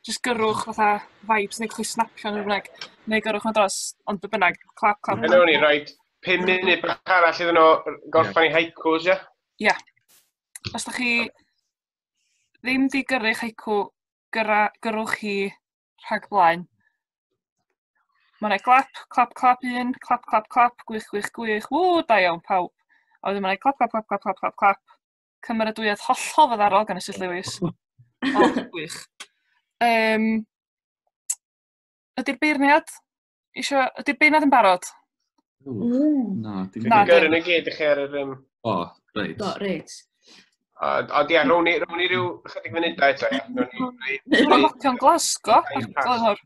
Just gyrrwch fatha vibes neu chwi snapio neu bynnag, neu gyrrwch nhw dros, ond be bynnag, clap, clap. Hynny o'n i rhoi pum munud bach arall iddyn nhw gorffan i haikus, ia? Ia. Os da chi ddim di gyrru'ch haiku, gyrra, gyrrwch hi rhag blaen. Mae yna clap, clap, clap un, clap, clap, clap, gwych, gwych, gwych, ww, da iawn pawb. A wedyn mae'n clap, clap, clap, clap, clap, clap, clap. Cymeradwyaeth hollol fyddarol gan Esyllt Lewis. O, gwych. Um, ydy'r beirniad isio, ydy'r beirniad yn barod? Mm. Na, dim Na, Gyrru nhw gyd i chi ar yr... Um... O, reit. Do, reit. Ond ia, rown ni, rown ni ryw chydig funudau eto, ia. Rown ni... Mae'n locio'n Glasgow. Ar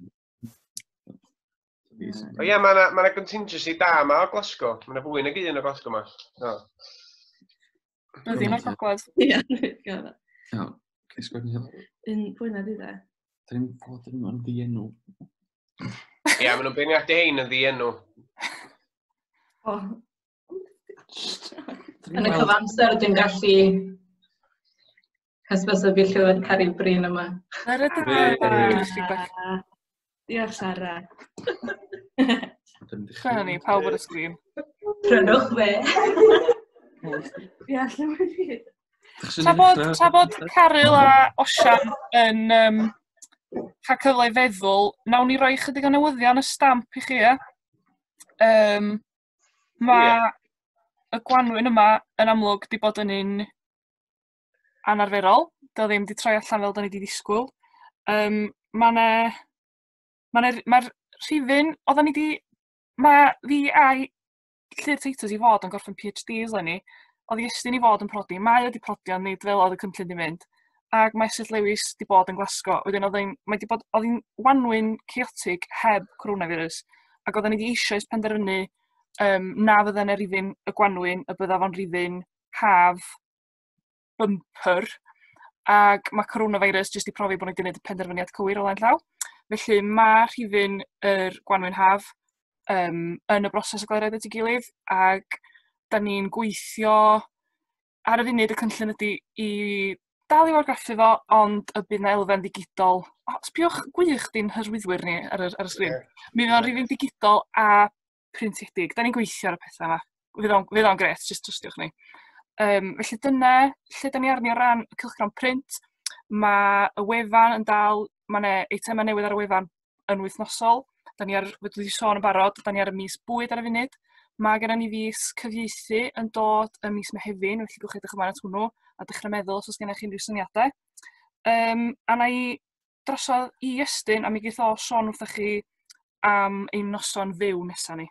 O ie, mae yna ma contingency da yma o Glasgow. Mae yna fwy nag un o Glasgow yma. No. Bydd o'r gogledd. Ie, reit. Iawn. Cei sgwennu hyn. Un pwy na di dde? Da ni'n gwybod yn yn ddienw. Ie, maen nhw'n beirniadu hein yn ddienw. O. Yn y cyfamser dwi'n gallu hysbysu fi llyfr Caryl Bryn yma. Diolch, Sara. Dyna ni, pawb ar y sgrin. Prynwch fe. Ie, lle mae fi? Tra bod, tra bod Caryl a Osian yn um, cael cyfle i feddwl, nawn ni roi chydig o newyddion y stamp i chi, ie? Um, mae yeah. y gwanwyn yma yn amlwg di bod yn un anarferol. Dio ddim di troi allan fel da ni di ddisgwyl. Um, mae 'na Mae'r ma rhifyn, oedden ni di, mae fi a'i Llyr Teitws i fod yn gorffen PhDs eleni, oedd Iestyn i fod yn prodi, mae o di prodi ond nid fel oedd y cynllun di mynd, ac mae Esyllt Lewis di bod yn Glasgow, wedyn oedd hi'n, mae di bod, oedd hi'n wanwyn chaotic heb coronavirus, ac oedden ni di eisoes penderfynu um, na fydden y rhifyn y gwanwyn, y bydda fo'n rhifyn haf bumper, ac mae coronavirus jyst i profi bod ni wedi gwneud y penderfyniad cywir o flaen llaw. Felly mae rhifyn yr gwanwyn haf um, yn y broses o gael ei roid at ei gilydd, ac da ni'n gweithio ar y funud y cynllun ydy i dal i argraffu fo, ond y bydd 'na elfen ddigidol. O, sbiwch gwych di'n hyrwyddwyr ni ar y, ar y sgrin. Yeah. Mi fydd o'n rhifyn digidol a printiedig. Da ni'n gweithio ar y pethau yma. Fydd o'n, fydd o'n gret, jyst trystiwch ni. Um, felly dyna lle da ni arni o ran y cylchgrawn print. Mae y wefan yn dal, mae yna eitemau newydd ar y wefan yn wythnosol. Da ni ar, dwi wedi sôn yn barod, da ni ar y mis bwyd ar y funud. Mae gennym ni fis cyfieithu yn dod ym mis Mehefin, felly gewch chi edrych ymlaen at hwnnw a dechrau meddwl os oes gennych chi unrhyw syniadau. Um, a na i drosodd i Iestyn a mi geith o sôn wrthych chi am ein noson fyw nesaf ni.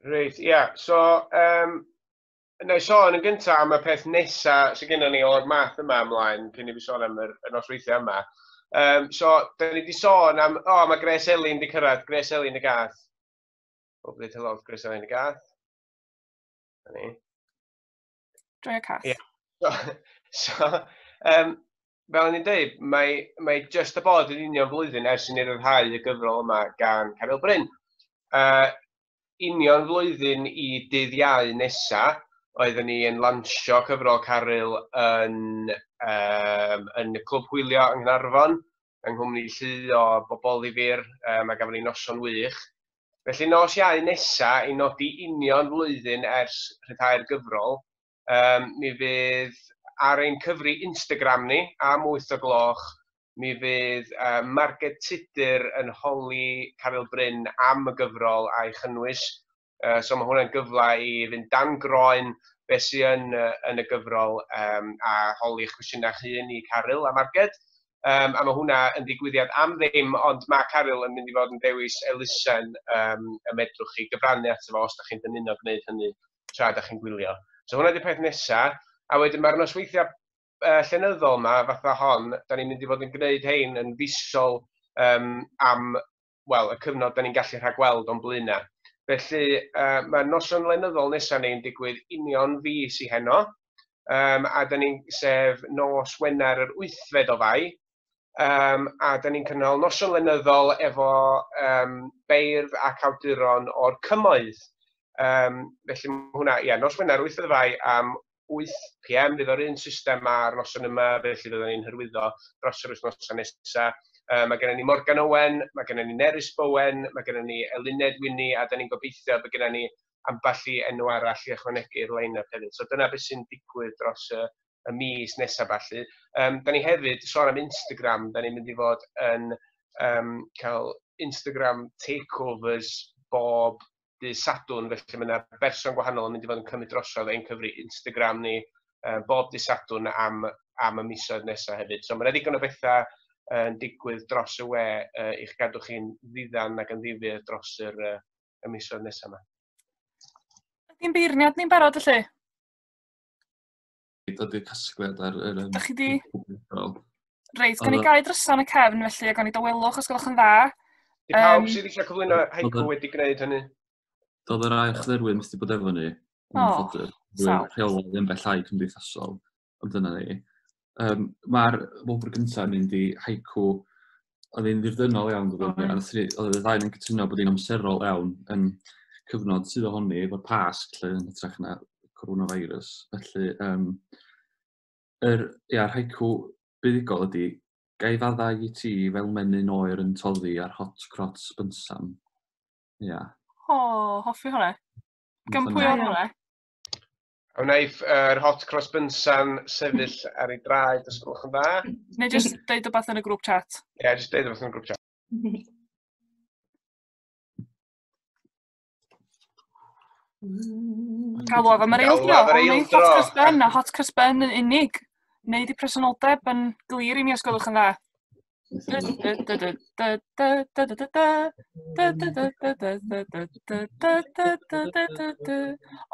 Reit, ia. Yeah. So, um, na i sôn yn gyntaf am y peth nesaf sydd gennym ni o'r math yma ymlaen, cyn i fi sôn am yr, y nosweithiau yma. Um, so, da ni wedi sôn am, o, oh, mae Grace Elin di cyrraedd, Grace Elin y gath. O, bryd hello, Grace Elin y gath. Na ni. Joio cath. Yeah. So, so um, fel o'n i'n dweud, mae, mae just y bod yn union flwyddyn ers i ni ryddhau y gyfrol yma gan Caryl Bryn. Uh, union flwyddyn i dydd Iau nesa, oeddwn ni yn lansio cyfrol Caryl yn, um, yn y Clwb Hwylio yng Nghaernarfon, yng nghwmni llu o bobl ddifyr, um, a gafon ni noson wych. Felly nos Iau nesa, i nodi union flwyddyn ers rhyddhau'r gyfrol, um, mi fydd ar ein cyfri Instagram ni am wyth o gloch, mi fydd uh, Marged Tudur yn holi Caryl Bryn am y gyfrol a'i chynnwys. Uh, so mae hwnna'n gyfle i fynd dan groen beth sydd yn, uh, yn y gyfrol um, a holi eich cwestiynau hun i Caryl a Marged. Um, a mae hwnna yn ddigwyddiad am ddim, ond mae Caryl yn mynd i fod yn dewis elusen um, y medrwch chi gyfrannu ato fo os da chi'n dymuno gwneud hynny tra da chi'n gwylio. So hwnna di'r peth nesaf. A wedyn mae'r nosweithiau uh, llenyddol yma, fatha hon, da ni'n mynd i fod yn gwneud hein yn fisol um, am, wel, y cyfnod da ni'n gallu rhagweld o'n blaenau. Felly, uh, mae'r noson lenyddol nesaf ni'n digwydd union fis i heno, um, a da ni'n sef nos Wener yr wythfed o Fai, um, a da ni'n cynnal noson lenyddol efo um, beirdd ac awduron o'r cymoedd. Um, felly, mae hwnna, ia, nos Wener wythfed o Fai am wyth p m, fydd o'r un system ar noson yma, felly fyddwn ni'n hyrwyddo dros yr wythnosau nesaf. Uh, mae gennym ni Morgan Owen, mae gennym ni Nerys Bowen, mae gennym ni Eluned Winnie, a da ni'n gobeithio bod gennym ni ambell i enw arall i ychwanegu i'r line-up hefyd. So dyna beth sy'n digwydd dros y, y mis nesaf falle. Um, da ni hefyd, sôn am Instagram, da ni'n mynd i fod yn um, cael Instagram takeovers bob dydd Sadwrn, felly mae yna berson gwahanol yn mynd i fod yn cymryd drosodd ein cyfri Instagram ni uh, bob dydd Sadwrn am, am y misoedd nesaf hefyd. So mae yna ddigon o bethau yn digwydd dros y we uh, i'ch gadw chi'n ddiddan ac yn ddifyr dros yr, uh, y misoedd nesaf yma. Ydy'n beirniad ni'n barod felly? Dod i'r casgliad ar yr... Dach chi di? Reit, gan i gau drysa yn y cefn felly, a gan i dawelwch os gwelwch yn dda. Di pawb um, sydd eisiau cyflwyno haiku wedi gwneud hynny? Doedd yr ail chlerwyr methu bod efo ni. O, sal. Rheolau yn bellhau cymdeithasol, ond dyna ni. Um, Mae'r wobr gyntaf yn mynd i haiku, oedd hi'n ddirdynnol iawn, oh, a oedd y ddau yn cytuno bod hi'n amserol iawn yn cyfnod sydd ohoni efo'r Pasg, lle yn hytrach na coronavirus. Felly, um, yr, ia, yr haiku buddugol ydy, gai faddau i ti fel menyn oer yn toddi ar hot cross bynsan. Ia. O, oh, hoffi hwnna. Gan pwy oedd hwnna? A wnaiff yr uh, hot cross bynsan sefyll ar ei draed, os gwelwch yn dda. Neu jyst deud rhywbeth yn y grŵp chat. Ie, yeah, jyst deud rhywbeth yn y grŵp chat. Galwaf am yr eildro. O'n hot cross bun a hot cross bun yn unig. Neud i presenoldeb yn glir i mi os gwelwch yn dda. O'n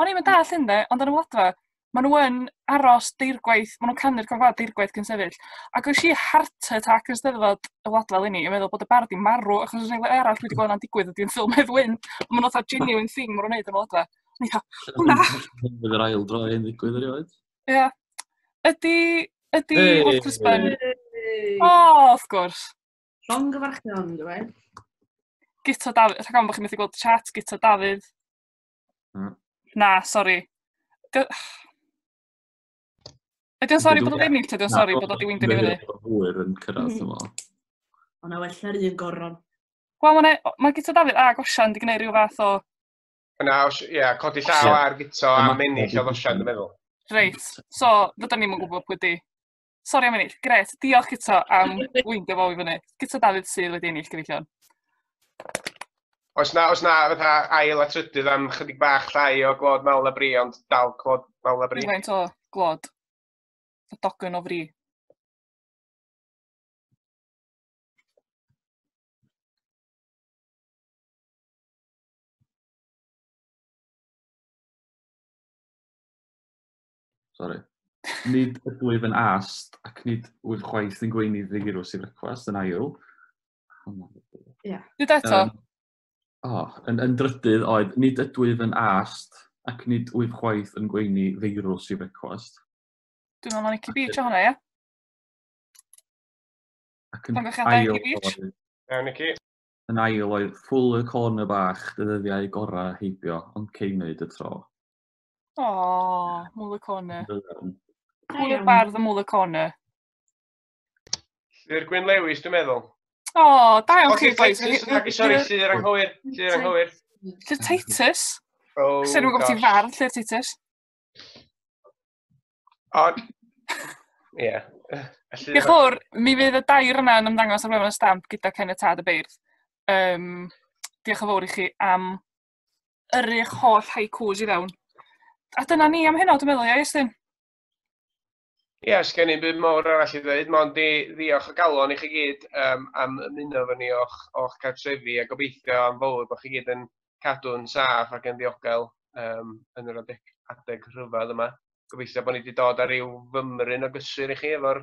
i'm yn dallt hyn de, ond yn y Wladfa, maen nhw yn aros deirgwaith, maen nhw'n canu'r corn gwlad deirgwaith cyn sefyll. Ac oes i heart attack yn Steddfod y Wladfa eleni, yn meddwl bod y bardd 'di marw, achos oes 'na arall wedi gweld hwnna'n digwydd ydy'n ffilm Hedd Wyn. Ond maen nhw'n fatha genuine thing maen nhw'n neud yn y Wladfa. O'n i fatha, hwnna! Bydd yr ail dro hyn ddigwydd erioed. Ie. Ydy, ydy hot cross bun... O, wrth gwrs. Llongyfarchion, dwi'n dweud. Guto Dafydd, rhag ofn bod chi'n methu gweld chat, Guto Dafydd. Mm. Na, sori. Ydy o'n sori bod o'n ennill, ydy o'n sori bod o di weindio ni fyny? Hwyr yn cyrraedd, dwi'n meddwl. O na, well na'r un goron. Wel, mae ma Guto Dafydd a Osian di gwneud rhyw fath o... Na, ie, codi llaw ar Guto a ennill oedd Osian, dwi'n meddwl. Reit, so, fydda ni'm yn gwybod pwy di. Sori am ennill. Gret, diolch Guto am weindio fo i fyny. Guto Dafydd sydd wedi ennill, gyfeillion. Oes na, oes na fatha ail a trydydd am chydig bach llai o glod mawl a bri, ond dal clod mawl a bri. Faint o glod? Y dogyn o fri. Sorry. Nid ydwyf yn ast ac nid wyf chwaith yn gweini ddigirws i frecwast yn ail. Ie. Dyd eto? Um, oh, yn, yn drydydd oedd, nid ydwyf yn ast ac nid wyf chwaith yn gweini feirws i frecwast. Dwi'n meddwl na Nicky Beach o hwnna, ie? Ac yn ail oedd... Iawn, Nicky. Yn ail oedd, ffwl y corner bach, dyddiau gorau heibio, ond cei wneud y tro. O, Mwl y Corner. Pwy yw'r bardd y Mwl y Corner? Llyr Gwyn Lewis, dwi'n meddwl. O, da iawn chi, boys. Sori, Llyr anghywir. Llyr anghywir. Llyr Titus? Oh, Swn i'n gwybod ti'n fardd, Llyr Titus. O, ie. Diolch yn fawr, mi fydd y dair yna yn ymddangos ar wefan y Stamp gyda caniatâd y beirdd. Um, diolch yn fawr i chi am yrru'ch holl haikus i fewn. A dyna ni am heno, dwi'n meddwl, ia, Iestyn? Ie, yeah, sgen i'm byd mawr arall i ddweud, mond i ddiolch o galon i chi gyd um, am ymuno efo ni o'ch, o'ch cartrefi a gobeithio am fawr bod chi gyd yn cadw'n saff ac yn ddiogel um, yn yr adeg, adeg rhyfedd yma. Gobeithio bod ni wedi dod ar ryw fymryn o gysur i chi efo'r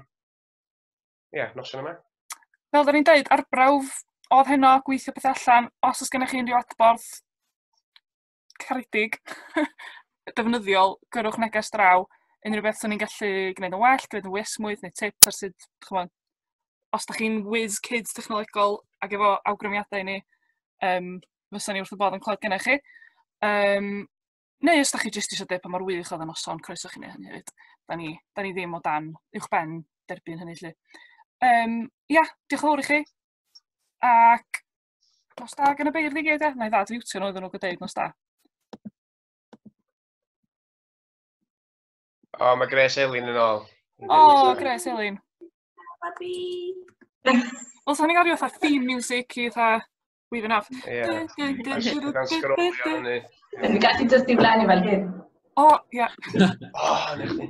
yeah, noson yma. Fel da ni'n dweud, arbrawf oedd heno, gweithio pethau allan. Os oes gennych chi unrhyw adborth caredig, defnyddiol, gyrrwch neges draw. Unrhyw beth sy'n ni'n gallu gwneud yn well, gwneud yn fwy esmwyth, neu tips ar sut, ch'mod, os da chi'n whiz kids technolegol ac efo awgrymiadau i ni, um, fysa ni wrth y bodd yn clywed gennych chi. Um, neu os da chi jyst eisiau deud pa mor wych oedd y noson, croeso chi wneud hynny hefyd. Da ni, da ni ddim o dan uwch ben derbyn hynny lly. Um, ia, diolch yn fawr i chi. Ac nos da gan y beirdd i gyd, e? Na i ddad fiwtio nhw iddyn nhw gydeu nos da. O, mae Grace Elin yn ôl. O, Grace Elin. Babi! Wel, sa'n ni'n gael rhyw fatha theme music i fatha weaving off. Ie. Gan sgrolio fyny. Dwi'n gallu just diflannu fel hyn. O, ia. O, na chdi.